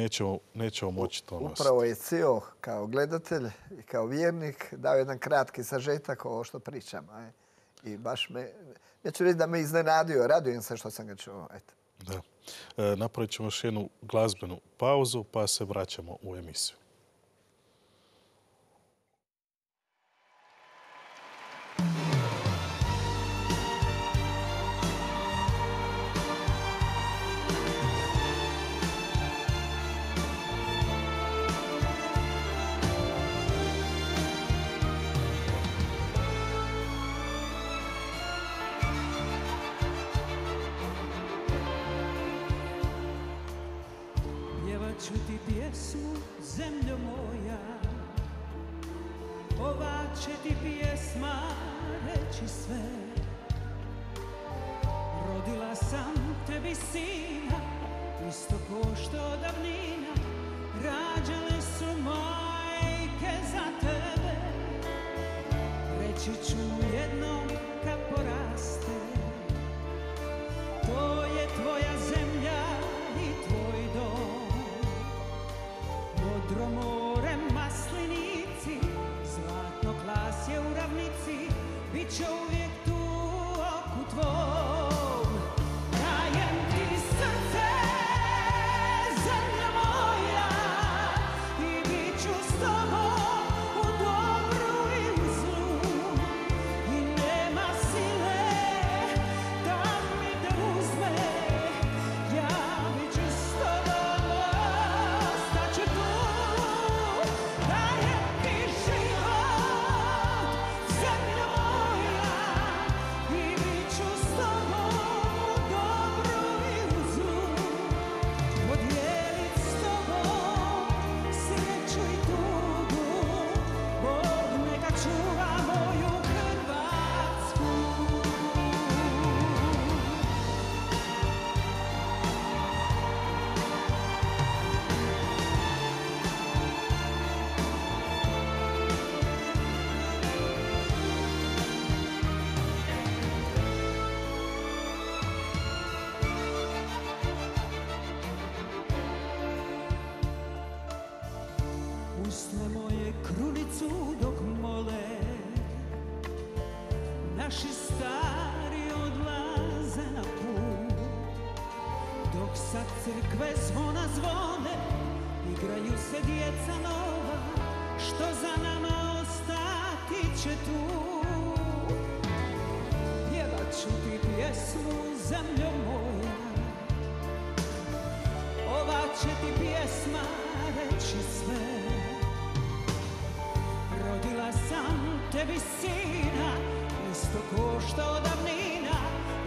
nećemo moći to nositi. Upravo je Cio kao gledatelj i kao vjernik dao jedan kratki sažetak ovo što pričam. I baš me, neću reći da me iznenadio, radujem se što sam ga čuo. Eto. Da. Napravit ćemo još jednu glazbenu pauzu pa se vraćamo u emisiju. Ću ti pjesmu, zemljo moja, ova će ti pjesma reći sve. Rodila sam tebi sina, isto ko što davnina rađale su majke za tebe. Reći ću jednom kad poraste, to je tvoja zemlja i tvoj dom. Modro more, maslinici, zlatno klasje u ravnici, bit će uvijek tu oku tvom. Dajem ti srce, zemlja moja, i bit ću s tobom u dobru i u zlu. crkve zvona zvone, igraju se djeca nova, što za nama ostati će tu. Pjevat ću ti pjesmu, zemljo moja, ova će ti pjesma reći sve. Rodila sam tebi sina, isto ko što davnina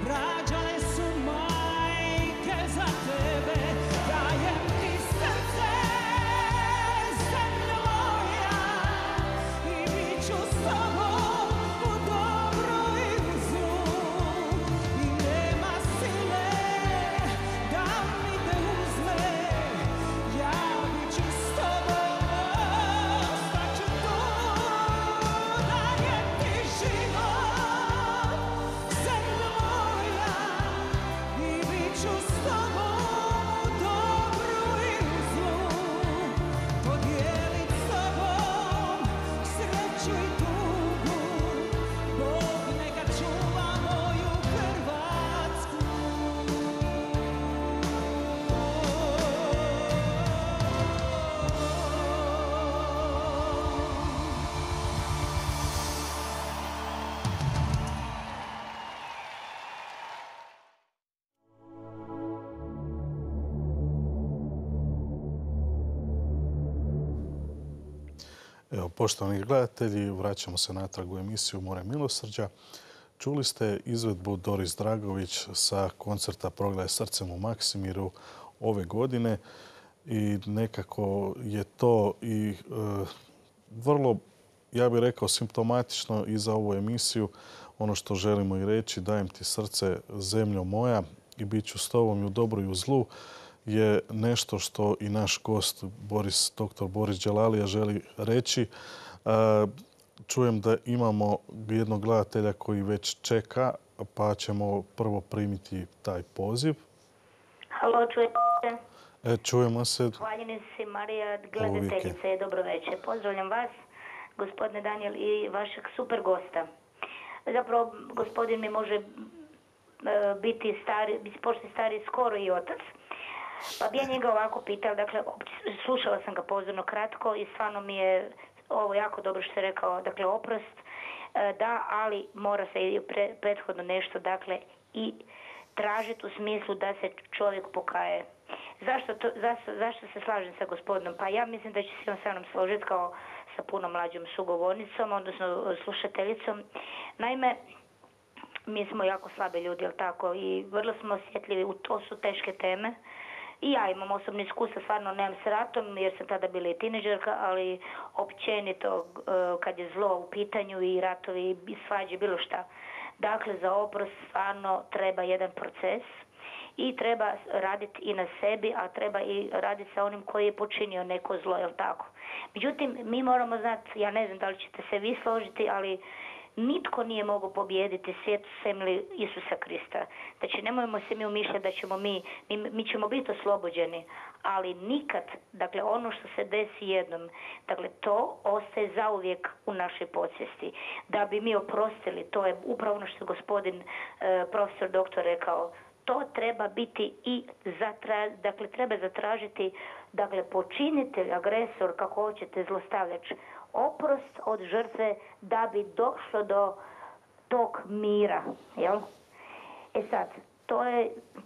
rađale su majke za tebe. Dajem ti srce, zemljo moja, i bit ću s tobom u dobru i u zlu. I nema sile da mi te uzme, ja bit ću s tobom, ostaću tu. Dajem ti život, zemljo moja, i bit ću s tobom u dobru i u zlu. Podijelit s tobom sreću i tugu, Bog neka čuva moju Hrvatsku. Evo, poštovani gledatelji, vraćamo se natrag u emisiju More milosrđa. Čuli ste izvedbu Doris Dragović sa koncerta Progledaj srcem u Maksimiru ove godine i nekako je to i vrlo, ja bih rekao, simptomatično i za ovu emisiju. Ono što želimo i reći, dajem ti srce, zemljo moja, i bit ću s tobom i u dobru i u zlu, je nešto što i naš gost dr. Boris Đelalija želi reći. Čujem da imamo jednog gledatelja koji već čeka, pa ćemo prvo primiti taj poziv. Halo, čujete se? Čujemo se. Hvaljeni si, Marija, gledateljice, dobro večer. Pozdravljam vas, gospodine Daniel, i vašeg super gosta. Zapravo, gospodin mi može biti stari, početi stari skoro i otac. Pa bi ja njega ovako pitala, dakle, slušala sam ga pozorno kratko i stvarno mi je ovo jako dobro što je rekao, dakle, oprost, da, ali mora se i prethodno nešto, dakle, i tražiti u smislu da se čovjek pokaje. Zašto se slažem sa gospodinom? Pa ja mislim da će se on sa mnom složiti kao sa puno mlađom sugovornicom, odnosno slušateljicom. Naime, mi smo jako slabi ljudi, jel tako, i vrlo smo osjetljivi, to su teške teme. I ja imam osobno iskustva, stvarno nemam s ratom jer sam tada bila i tineđerka, ali općenito kad je zlo u pitanju i ratovi i svađe, bilo šta. Dakle, za oprost stvarno treba jedan proces i treba raditi i na sebi, a treba i raditi sa onim koji je počinio neko zlo, jel tako? Međutim, mi moramo znati, ja ne znam da li ćete se vi složiti, ali nitko nije mogao pobijediti svijet sem li Isusa Krista. Znači, nemojmo se mi umišljati da ćemo mi ćemo biti oslobođeni, ali nikad, dakle, ono što se desi jednom, dakle, to ostaje zauvijek u našoj podsvijesti. Da bi mi oprostili, to je upravo ono što je gospodin profesor doktor rekao, to treba biti i dakle, treba zatražiti, dakle, počinitelj, agresor, kako hoćete, zlostavljač, oprost od žrtve da bi došlo do tog mira, jel? E sad,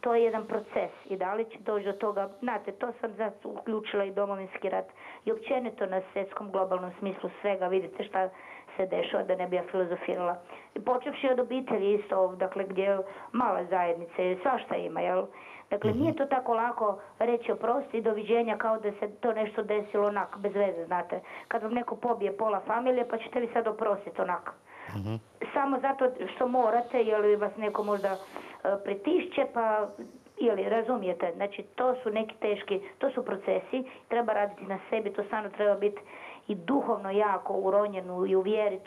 to je jedan proces i da li će doći do toga, znate, to sam sad uključila i Domovinski rat i općenito na svjetskom globalnom smislu svega, vidite šta se dešava, da ne bi ja filozofirala. I počevši od obitelji isto, dakle, gdje mala zajednica i svašta ima, jel? Dakle, nije to tako lako reći oprosti i doviđenja kao da se to nešto desilo onak, bez veze, znate. Kad vam neko pobije pola familije, pa ćete vi sad oprostiti onak. Samo zato što morate, ili vas neko možda pritišće, pa, ili razumijete. Znači, to su neki teški, to su procesi, treba raditi na sebi, to stvarno treba biti i duhovno jako uronjenu i u vjeri.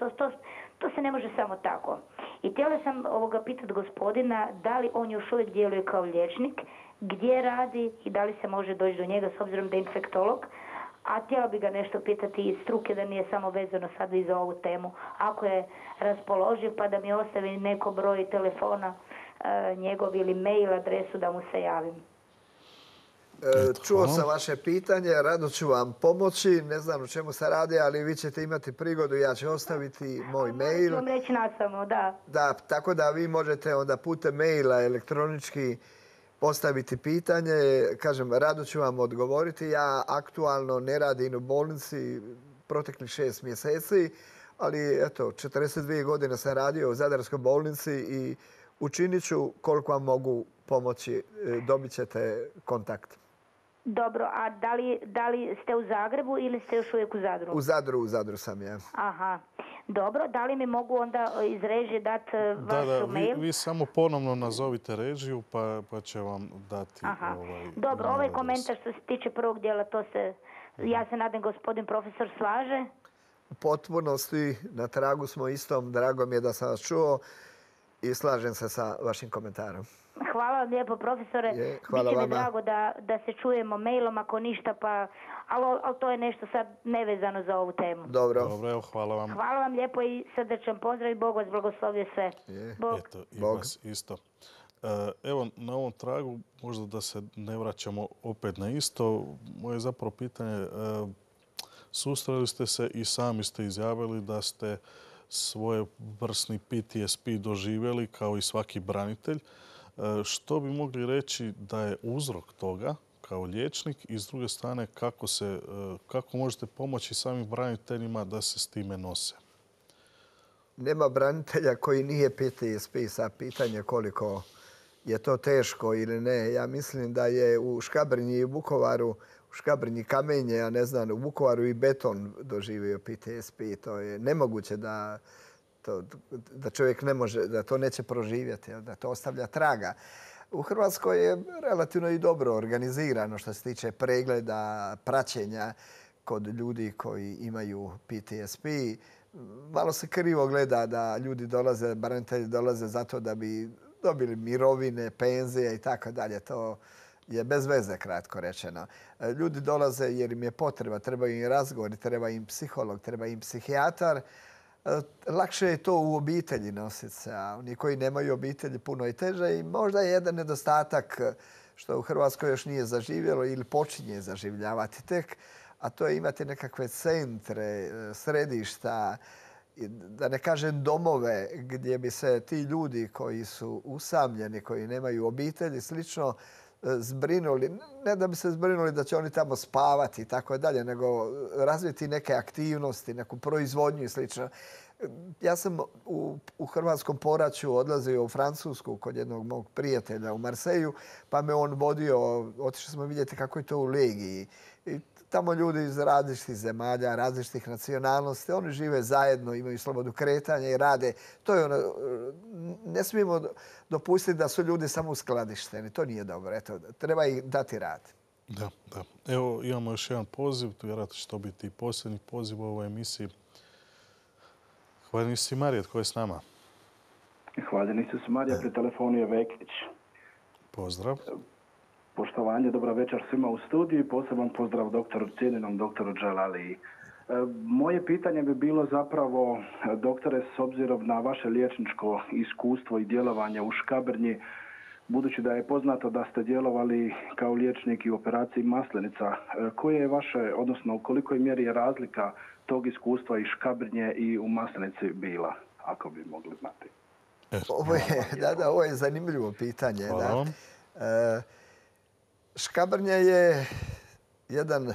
To se ne može samo tako. I htjela sam pitati gospodina da li on još uvijek djeluje kao liječnik, gdje radi i da li se može doći do njega s obzirom da je infektolog. A htjela bi ga nešto pitati iz struke, da nije samo vezano sad i za ovu temu. Ako je raspoloživ, pa da mi ostavi neko broj telefona njegov ili mail adresu da mu se javim. Čuo sam vaše pitanje, rado ću vam pomoći. Ne znam o čemu se radi, ali vi ćete imati prigodu. Ja ću ostaviti moj mail. Ću vam reći nastavno, da. Da, tako da vi možete onda putem maila elektronički postaviti pitanje. Kažem, rado ću vam odgovoriti. Ja aktualno ne radim u bolnici proteklih 6 mjeseci, ali eto, 42 godine sam radio u Zadarskoj bolnici i učinit ću koliko vam mogu pomoći. Dobit ćete kontakt. Dobro, a da li ste u Zagrebu ili ste još uvijek u Zadru? U Zadru sam, ja. Aha. Dobro, da li mi mogu onda iz režije dati vaš mail? Vi samo ponovno nazovite režiju pa će vam dati... Dobro, ovaj komentar što se tiče prvog dijela, to se, ja se nadam gospodin profesor slaže. U potpunosti, na tragu smo istom, drago mi je da sam vas čuo i slažem se sa vašim komentarom. Hvala vam lijepo, profesore. Hvala Biće vama. mi drago da se čujemo mailom ako ništa, ali to je nešto sad nevezano za ovu temu. Dobro, evo, hvala vam. Hvala vam lijepo i srdečan pozdrav i Bog vas blagoslovio sve. Bog. Eto, i vas isto. Evo, na ovom tragu, možda da se ne vraćamo opet na isto, moje zapravo pitanje, susreli ste se i sami ste izjavili da ste svojevrsni PTSP doživjeli kao i svaki branitelj. Što bi mogli reći da je uzrok toga kao liječnik i s druge strane kako možete pomoći samim braniteljima da se s time nose? Nema branitelja koji nije PTSP, sa pitanje koliko je to teško ili ne. Ja mislim da je u Škabrnji i Vukovaru, u Škabrnji kamenje, ja ne znam, u Vukovaru i beton doživio PTSP. To je nemoguće da čovjek ne može, da to neće proživjeti, da to ostavlja traga. U Hrvatskoj je relativno i dobro organizirano što se tiče pregleda, praćenja kod ljudi koji imaju PTSP. Malo se krivo gleda da ljudi dolaze, branitelji dolaze zato da bi dobili mirovine, penzije i tako dalje. To je bez veze, kratko rečeno. Ljudi dolaze jer im je potreba, treba im razgovor, treba im psiholog, treba im psihijatar. Lakše je to u obitelji nositi se, a oni koji nemaju obitelji puno je teže i možda je jedan nedostatak što u Hrvatskoj još nije zaživjelo ili počinje zaživljavati tek, a to je imati nekakve centre, središta, da ne kažem domove gdje bi se ti ljudi koji su usamljeni, koji nemaju obitelji, slično zbrinuli. Ne da bi se zbrinuli da će oni tamo spavati i tako dalje, nego razviti neke aktivnosti, neku proizvodnju i slično. Ja sam u hrvatskom poraću odlazio u Francusku kod jednog mog prijatelja u Marseju, pa me on vodio, otišli smo vidjeti kako je to u Legiji. I tamo ljudi iz različitih zemalja, različitih nacionalnosti, oni žive zajedno, imaju slobodu kretanja i rade. To je ono, ne smijemo dopustiti da su ljudi samo uskladišteni. To nije dobro. Eto, treba ih dati rad. Da. Evo, imamo još jedan poziv. Vjerojatno će to biti i posljednji poziv u ovoj emisiji. Hvaljeni si Marija, tko je s nama? Hvaljeni se Marija, pri telefonu je Vekić. Pozdrav. Poštovanje, dobra večer svima u studiju i poseban pozdrav cijenjenom doktoru Dželaliji. Moje pitanje bi bilo zapravo, doktore, s obzirom na vaše liječničko iskustvo i djelovanje u Škabrnji, budući da je poznato da ste djelovali kao liječnik i u operaciji Maslenica, koje je vaše, odnosno u kolikoj mjeri je razlika tog iskustva iz Škabrnje i u Maslenici bila, ako bi mogli znati? Ovo je zanimljivo pitanje. Hvala vam. Škabrnja je jedan,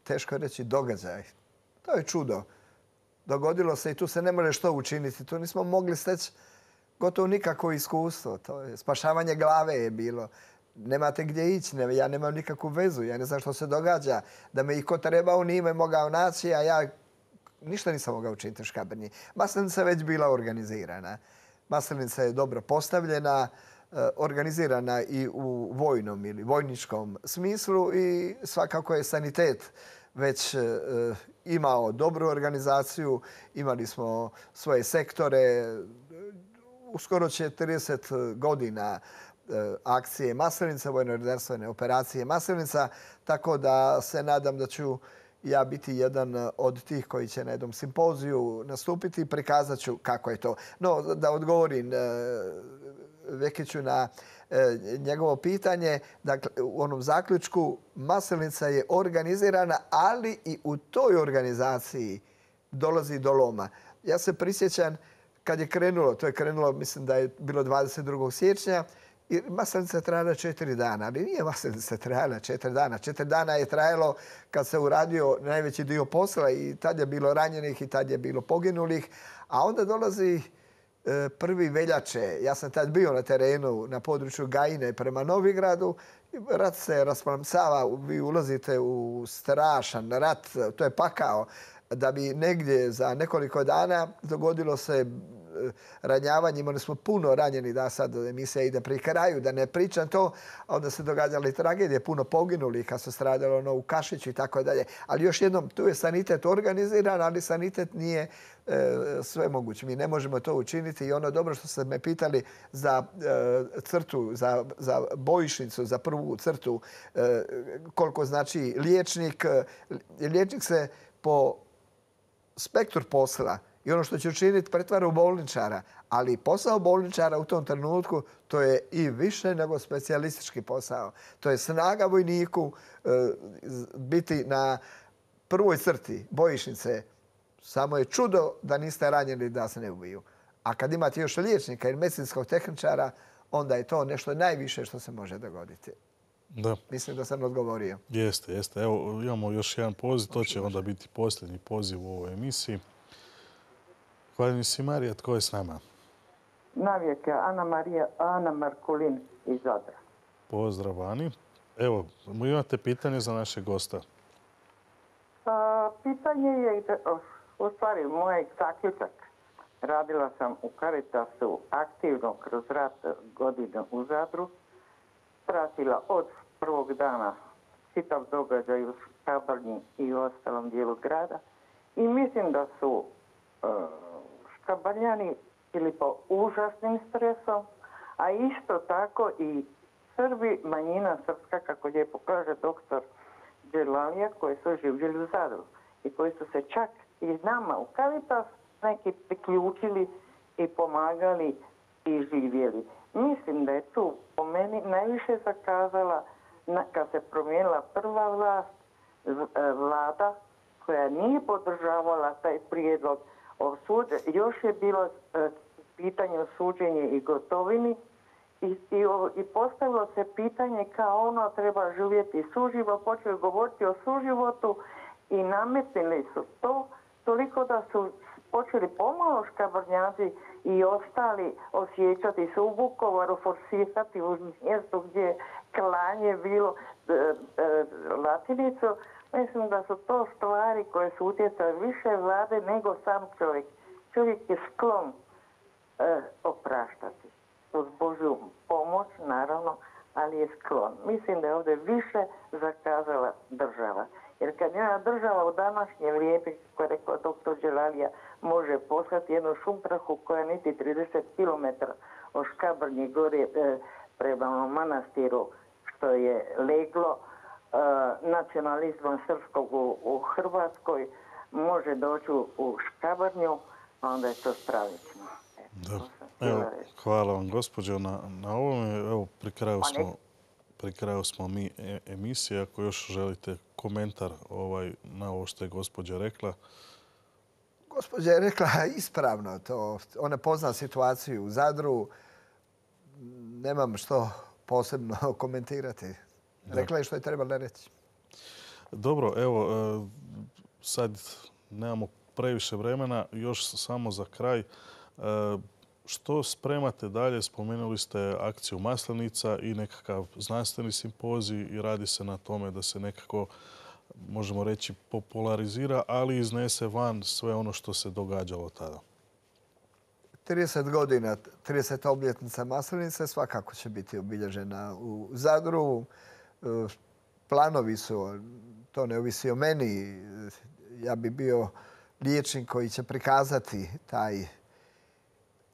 teško reći, događaj. To je čudo. Dogodilo se i tu se ne može što učiniti. Tu nismo mogli steći gotovo nikakvo iskustvo. To je spašavanje glave je bilo. Nemate gdje ići, ja nemam nikakvu vezu, ja ne znam što se događa. Da me i ko trebao nije me mogao naći, a ja ništa nisam mogao učiniti u Škabrnji. Maslenica je već bila organizirana. Maslenica je dobro postavljena, organizirana i u vojnom ili vojničkom smislu i svakako je sanitet već imao dobru organizaciju. Imali smo svoje sektore. Uskoro će 30 godina akcije Maslenica, vojno-redarstvene operacije Maslenica, tako da se nadam da ću ja biti jedan od tih koji će na jednom simpoziju nastupiti i prikazat ću kako je to. No, da odgovorim, Vekiću na njegovo pitanje. Dakle, u onom zaključku Maslenica je organizirana, ali i u toj organizaciji dolazi do loma. Ja se prisjećam kad je krenulo, to je krenulo, mislim da je bilo 22. siječnja, i Maslenica je trajala 4 dana, ali nije Maslenica trajala 4 dana. 4 dana je trajalo kad se uradio najveći dio posla i tad je bilo ranjenih i tad je bilo poginulih. A onda dolazi 1. veljače. Ja sam tad bio na terenu na području Gajine prema Novigradu. Rat se rasplamsava, vi ulazite u strašan rat, to je pakao. Da bi negdje za nekoliko dana dogodilo se ranjavanje. Imali smo puno ranjenih, da sad emisija ide pri kraju, da ne pričam to. A onda se događale tragedije, puno poginulih kad se stradalo u Kašiću i tako dalje. Ali još jednom, tu je sanitet organiziran, ali sanitet nije sve moguće. Mi ne možemo to učiniti i ono dobro što ste me pitali za crtu, za bojišnicu, za prvu crtu, koliko znači liječnik. Liječnik se po spektru posla i ono što će učiniti pretvara u bolničara. Ali posao bolničara u tom trenutku to je i više nego specijalistički posao. To je snaga vojniku biti na prvoj crti bojišnice. Samo je čudo da niste ranjeni da se ne ubiju. A kad imate još liječnika i medicinskog tehničara, onda je to nešto najviše što se može dogoditi. Da. Mislim da sam odgovorio. Jeste. Evo, imamo još jedan poziv. To će onda biti posljednji poziv u ovoj emisiji. Hvala si, Marija. Tko je s nama? Navijek, Ana Markulin iz Zadra. Pozdrav, Ani. Evo, imate pitanje za našeg gosta? Pitanje je, u stvari, moj zaključak. Radila sam u Caritasu aktivno kroz rat godine u Zadru. Pratila od prvog dana čitav događaj u Škabrnji i u ostalom dijelu grada. I mislim da su Škabrnjani bili po užasnim stresom, a isto tako i Srbi, manjina srpska, kako lijepo kaže doktor Dželalija, koji su živjeli u Zadru i koji su se čak i nama u Caritas neki priključili i pomagali i živjeli. Mislim da je tu po meni najviše zakazala kad se promijenila prva vlada koja nije podržavala taj prijedlog. Još je bilo pitanje o suđenju i Gotovini i postavilo se pitanje kao ono treba živjeti suživo, počeli govoriti o suživotu i nametnili su to toliko da su počeli pomalo Škabrnjaci i ostali osjećati se u Vukovaru, forsirati u mjestu gdje je klanje bilo latinicu. Mislim da su to stvari koje su utjecale više vlade nego sam čovjek. Čovjek je sklon opraštati. Uz Božju pomoć, naravno, ali je sklon. Mislim da je ovdje više zakazala država. Jer kad jedna država u današnje vrijeme, kako je rekao doktor Dželalija, može poslati jednu šumprahu koja niti 30 km od Škabrnje gore prema manastiru, što je leglo nacionalizma srpskog u Hrvatskoj, može doći u Škabrnju, onda je to stravično. Evo, hvala vam, gospođo, na ovome. Evo, pri kraju smo mi emisije. Ako još želite komentar na ovo što je gospođa rekla. Gospođa je rekla ispravno to. Ona pozna situaciju u Zadru. Nemam što posebno komentirati. Rekla je što je trebala reći. Dobro, evo, sad nemamo previše vremena. Još samo za kraj. Što spremate dalje? Spomenuli ste akciju Maslenica i nekakav znanstveni simpozij i radi se na tome da se nekako, možemo reći, popularizira, ali iznese van sve ono što se događalo tada. 30 godina, 30. obljetnica Maslenice svakako će biti obilježena u Zadru. Planovi su, to ne ovisi o meni. Ja bi bio liječnik koji će prikazati taj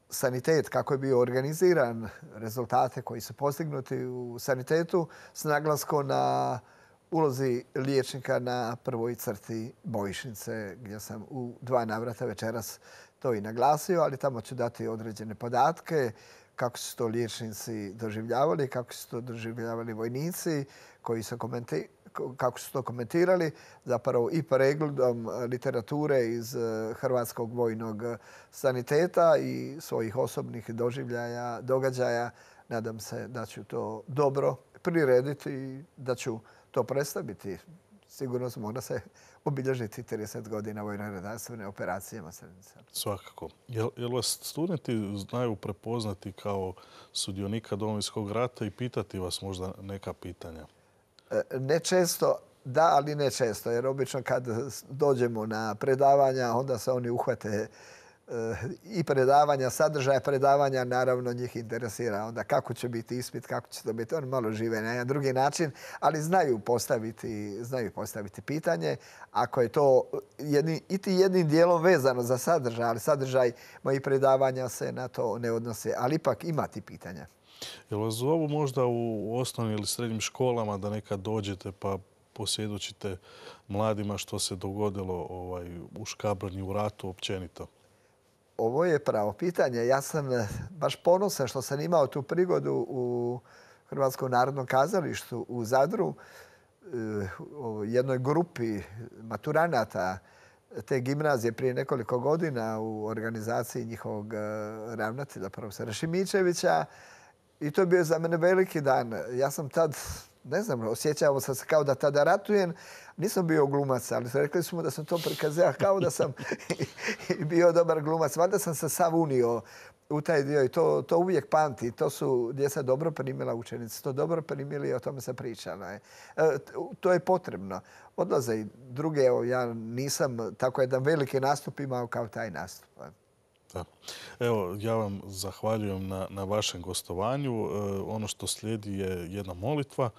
sanitet, kako je bio organiziran, rezultate koji su postignuti u sanitetu s naglaskom na ulozi liječnika na prvoj crti bojišnice, gdje sam u 2 navrata večeras to i naglasio, ali tamo ću dati određene podatke kako su to liječnici doživljavali, kako su to doživljavali vojnici, kako su to komentirali, zapravo i pregledom literature iz Hrvatskog vojnog saniteta i svojih osobnih doživljaja, događaja. Nadam se da ću to dobro prirediti i da ću to predstaviti. Sigurno mora se obilježiti 30 godina vojno-redarstvene operacijama Srebrenica. Svakako. Jel vas studenti znaju prepoznati kao sudionika Domovinskog rata i pitati vas možda neka pitanja? Ne često, da, ali ne često. Jer obično kad dođemo na predavanja, onda se oni uhvate i predavanja, sadržaja predavanja, naravno njih interesira onda kako će biti ispit, kako će to biti. Oni malo žive na jedan drugi način, ali znaju postaviti pitanje. Ako je to jednim dijelom vezano za sadržaj, ali sadržaj mojih predavanja se na to ne odnose, ali ipak imati pitanja. Jel vas zovu možda u osnovnim ili srednjim školama da nekad dođete pa posvjedočite mladima što se dogodilo u Škabrnji, u ratu općenito? Ovo je pravo pitanje. Ja sam baš ponosan što sam imao tu prigodu u Hrvatskom narodnom kazalištu u Zadru, u jednoj grupi maturanata te gimnazije prije nekoliko godina u organizaciji njihovog ravnatelja, profesora Šimičevića. I to je bio za mene veliki dan. Ja sam tad, ne znam, osjećao sam se kao da tada ratujem. Nisam bio glumac, ali rekli su mu da sam to prikazao kao da sam bio dobar glumac. Valjda sam se sav unio u taj dio i to uvijek pamti. To su djeca dobro primila, učenici to dobro primili i o tome se pričalo. To je potrebno. Odlaze i druge, ja nisam tako jedan veliki nastup imao kao taj nastup. Da. Evo, ja vam zahvaljujem na vašem gostovanju. Ono što slijedi je jedna molitva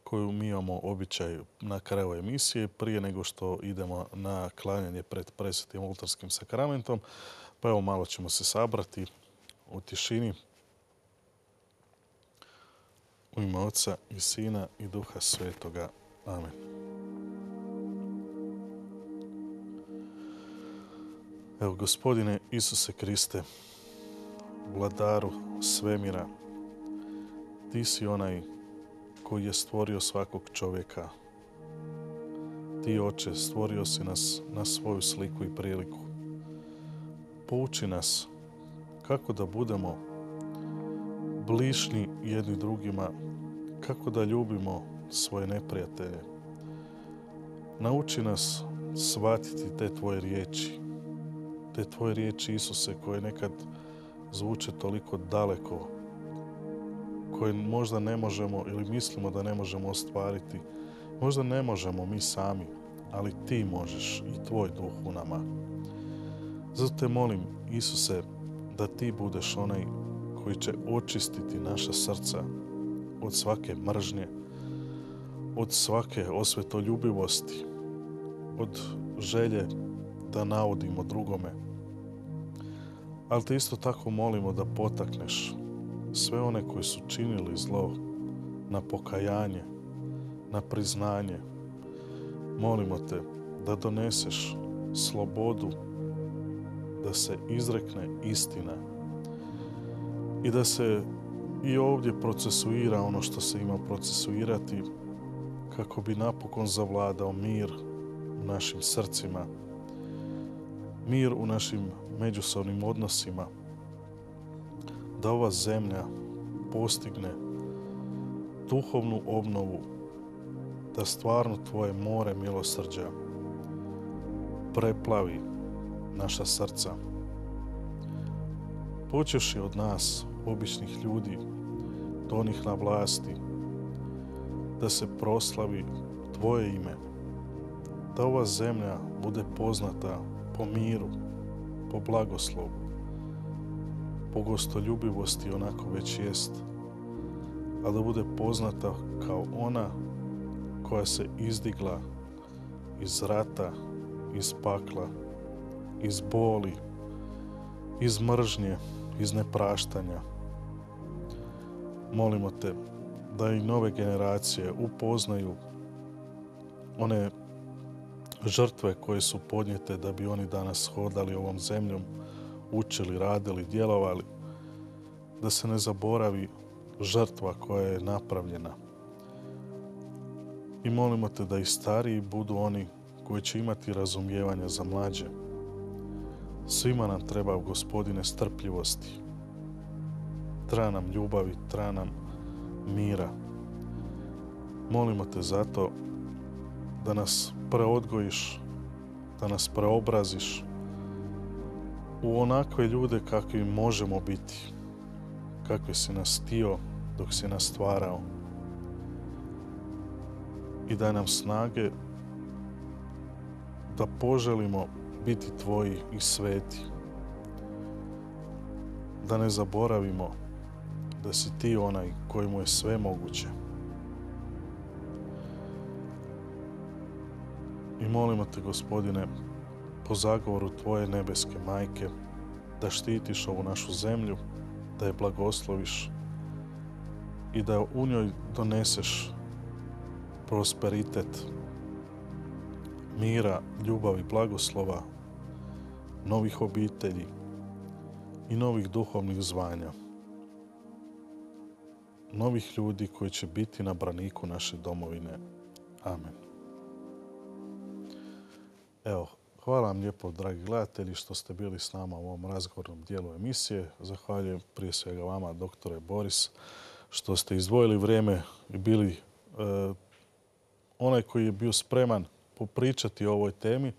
koju mi imamo običaj na kraju emisije prije nego što idemo na klanjanje pred presvetim oltarskim sakramentom. Pa evo, malo ćemo se sabrati u tišini. U ime Oca i Sina i Duha Svetoga. Amen. Evo, Gospodine Isuse Kriste, vladaru svemira, ti si onaj koji je stvorio svakog čovjeka. Ti, Oče, stvorio si nas na svoju sliku i priliku. Pouči nas kako da budemo bližni jedni drugima, kako da ljubimo svoje neprijatelje. Nauči nas shvatiti te tvoje riječi, Isuse, koje nekad zvuče toliko daleko, koje možda ne možemo ili mislimo da ne možemo ostvariti. Možda ne možemo mi sami, ali ti možeš i tvoj duh u nama. Zato te molim, Isuse, da ti budeš onaj koji će očistiti naša srca od svake mržnje, od svake osvetoljubivosti, od želje da naudimo drugome. Ali te isto tako molimo da potakneš sve one koji su činili zlo na pokajanje, na priznanje. Molimo te da doneseš slobodu, da se izrekne istina i da se i ovdje procesuira ono što se ima procesuirati kako bi napokon zavladao mir u našim srcima, mir u našim međusobnim odnosima, da ova zemlja postigne duhovnu obnovu, da stvarno tvoje more milosrđa preplavi naša srca. Počevši od nas, običnih ljudi, do onih na vlasti, da se proslavi tvoje ime, da ova zemlja bude poznata po miru, po blagoslovu, po gostoljubivosti onako već jest, a da bude poznata kao ona koja se izdigla iz rata, iz pakla, iz boli, iz mržnje, iz nepraštanja. Molimo te da i nove generacije upoznaju one žrtve koje su podnijete da bi oni danas hodali ovom zemljom, učili, radili, djelovali. da se ne zaboravi žrtva koja je napravljena. I molimo te da i stariji budu oni koji će imati razumijevanja za mlađe. Svima nam treba, Gospodine, strpljivosti. Treba nam ljubavi, treba nam mira. Molimo te zato da nas preodgojiš, da nas preobraziš u onakve ljude kakvi možemo biti, kakvi si nas htio dok si nas stvarao. I daj nam snage da poželimo biti tvoji i sveti. Da ne zaboravimo da si ti onaj kojemu je sve moguće. I molimo te, Gospodine, po zagovoru tvoje nebeske majke, da štitiš ovu našu zemlju, da je blagosloviš i da u njoj doneseš prosperitet, mira, ljubavi, blagoslova, novih obitelji i novih duhovnih zvanja. Novih ljudi koji će biti na braniku naše domovine. Amen. Evo, hvala vam lijepo, dragi gledatelji, što ste bili s nama u ovom razgovornom dijelu emisije. Zahvaljujem prije svega vama, doktore Boris, što ste izdvojili vrijeme i bili onaj koji je bio spreman popričati o ovoj temi.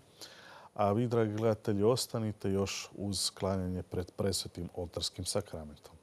A vi, dragi gledatelji, ostanite još uz klanjanje pred presvetim oltarskim sakramentom.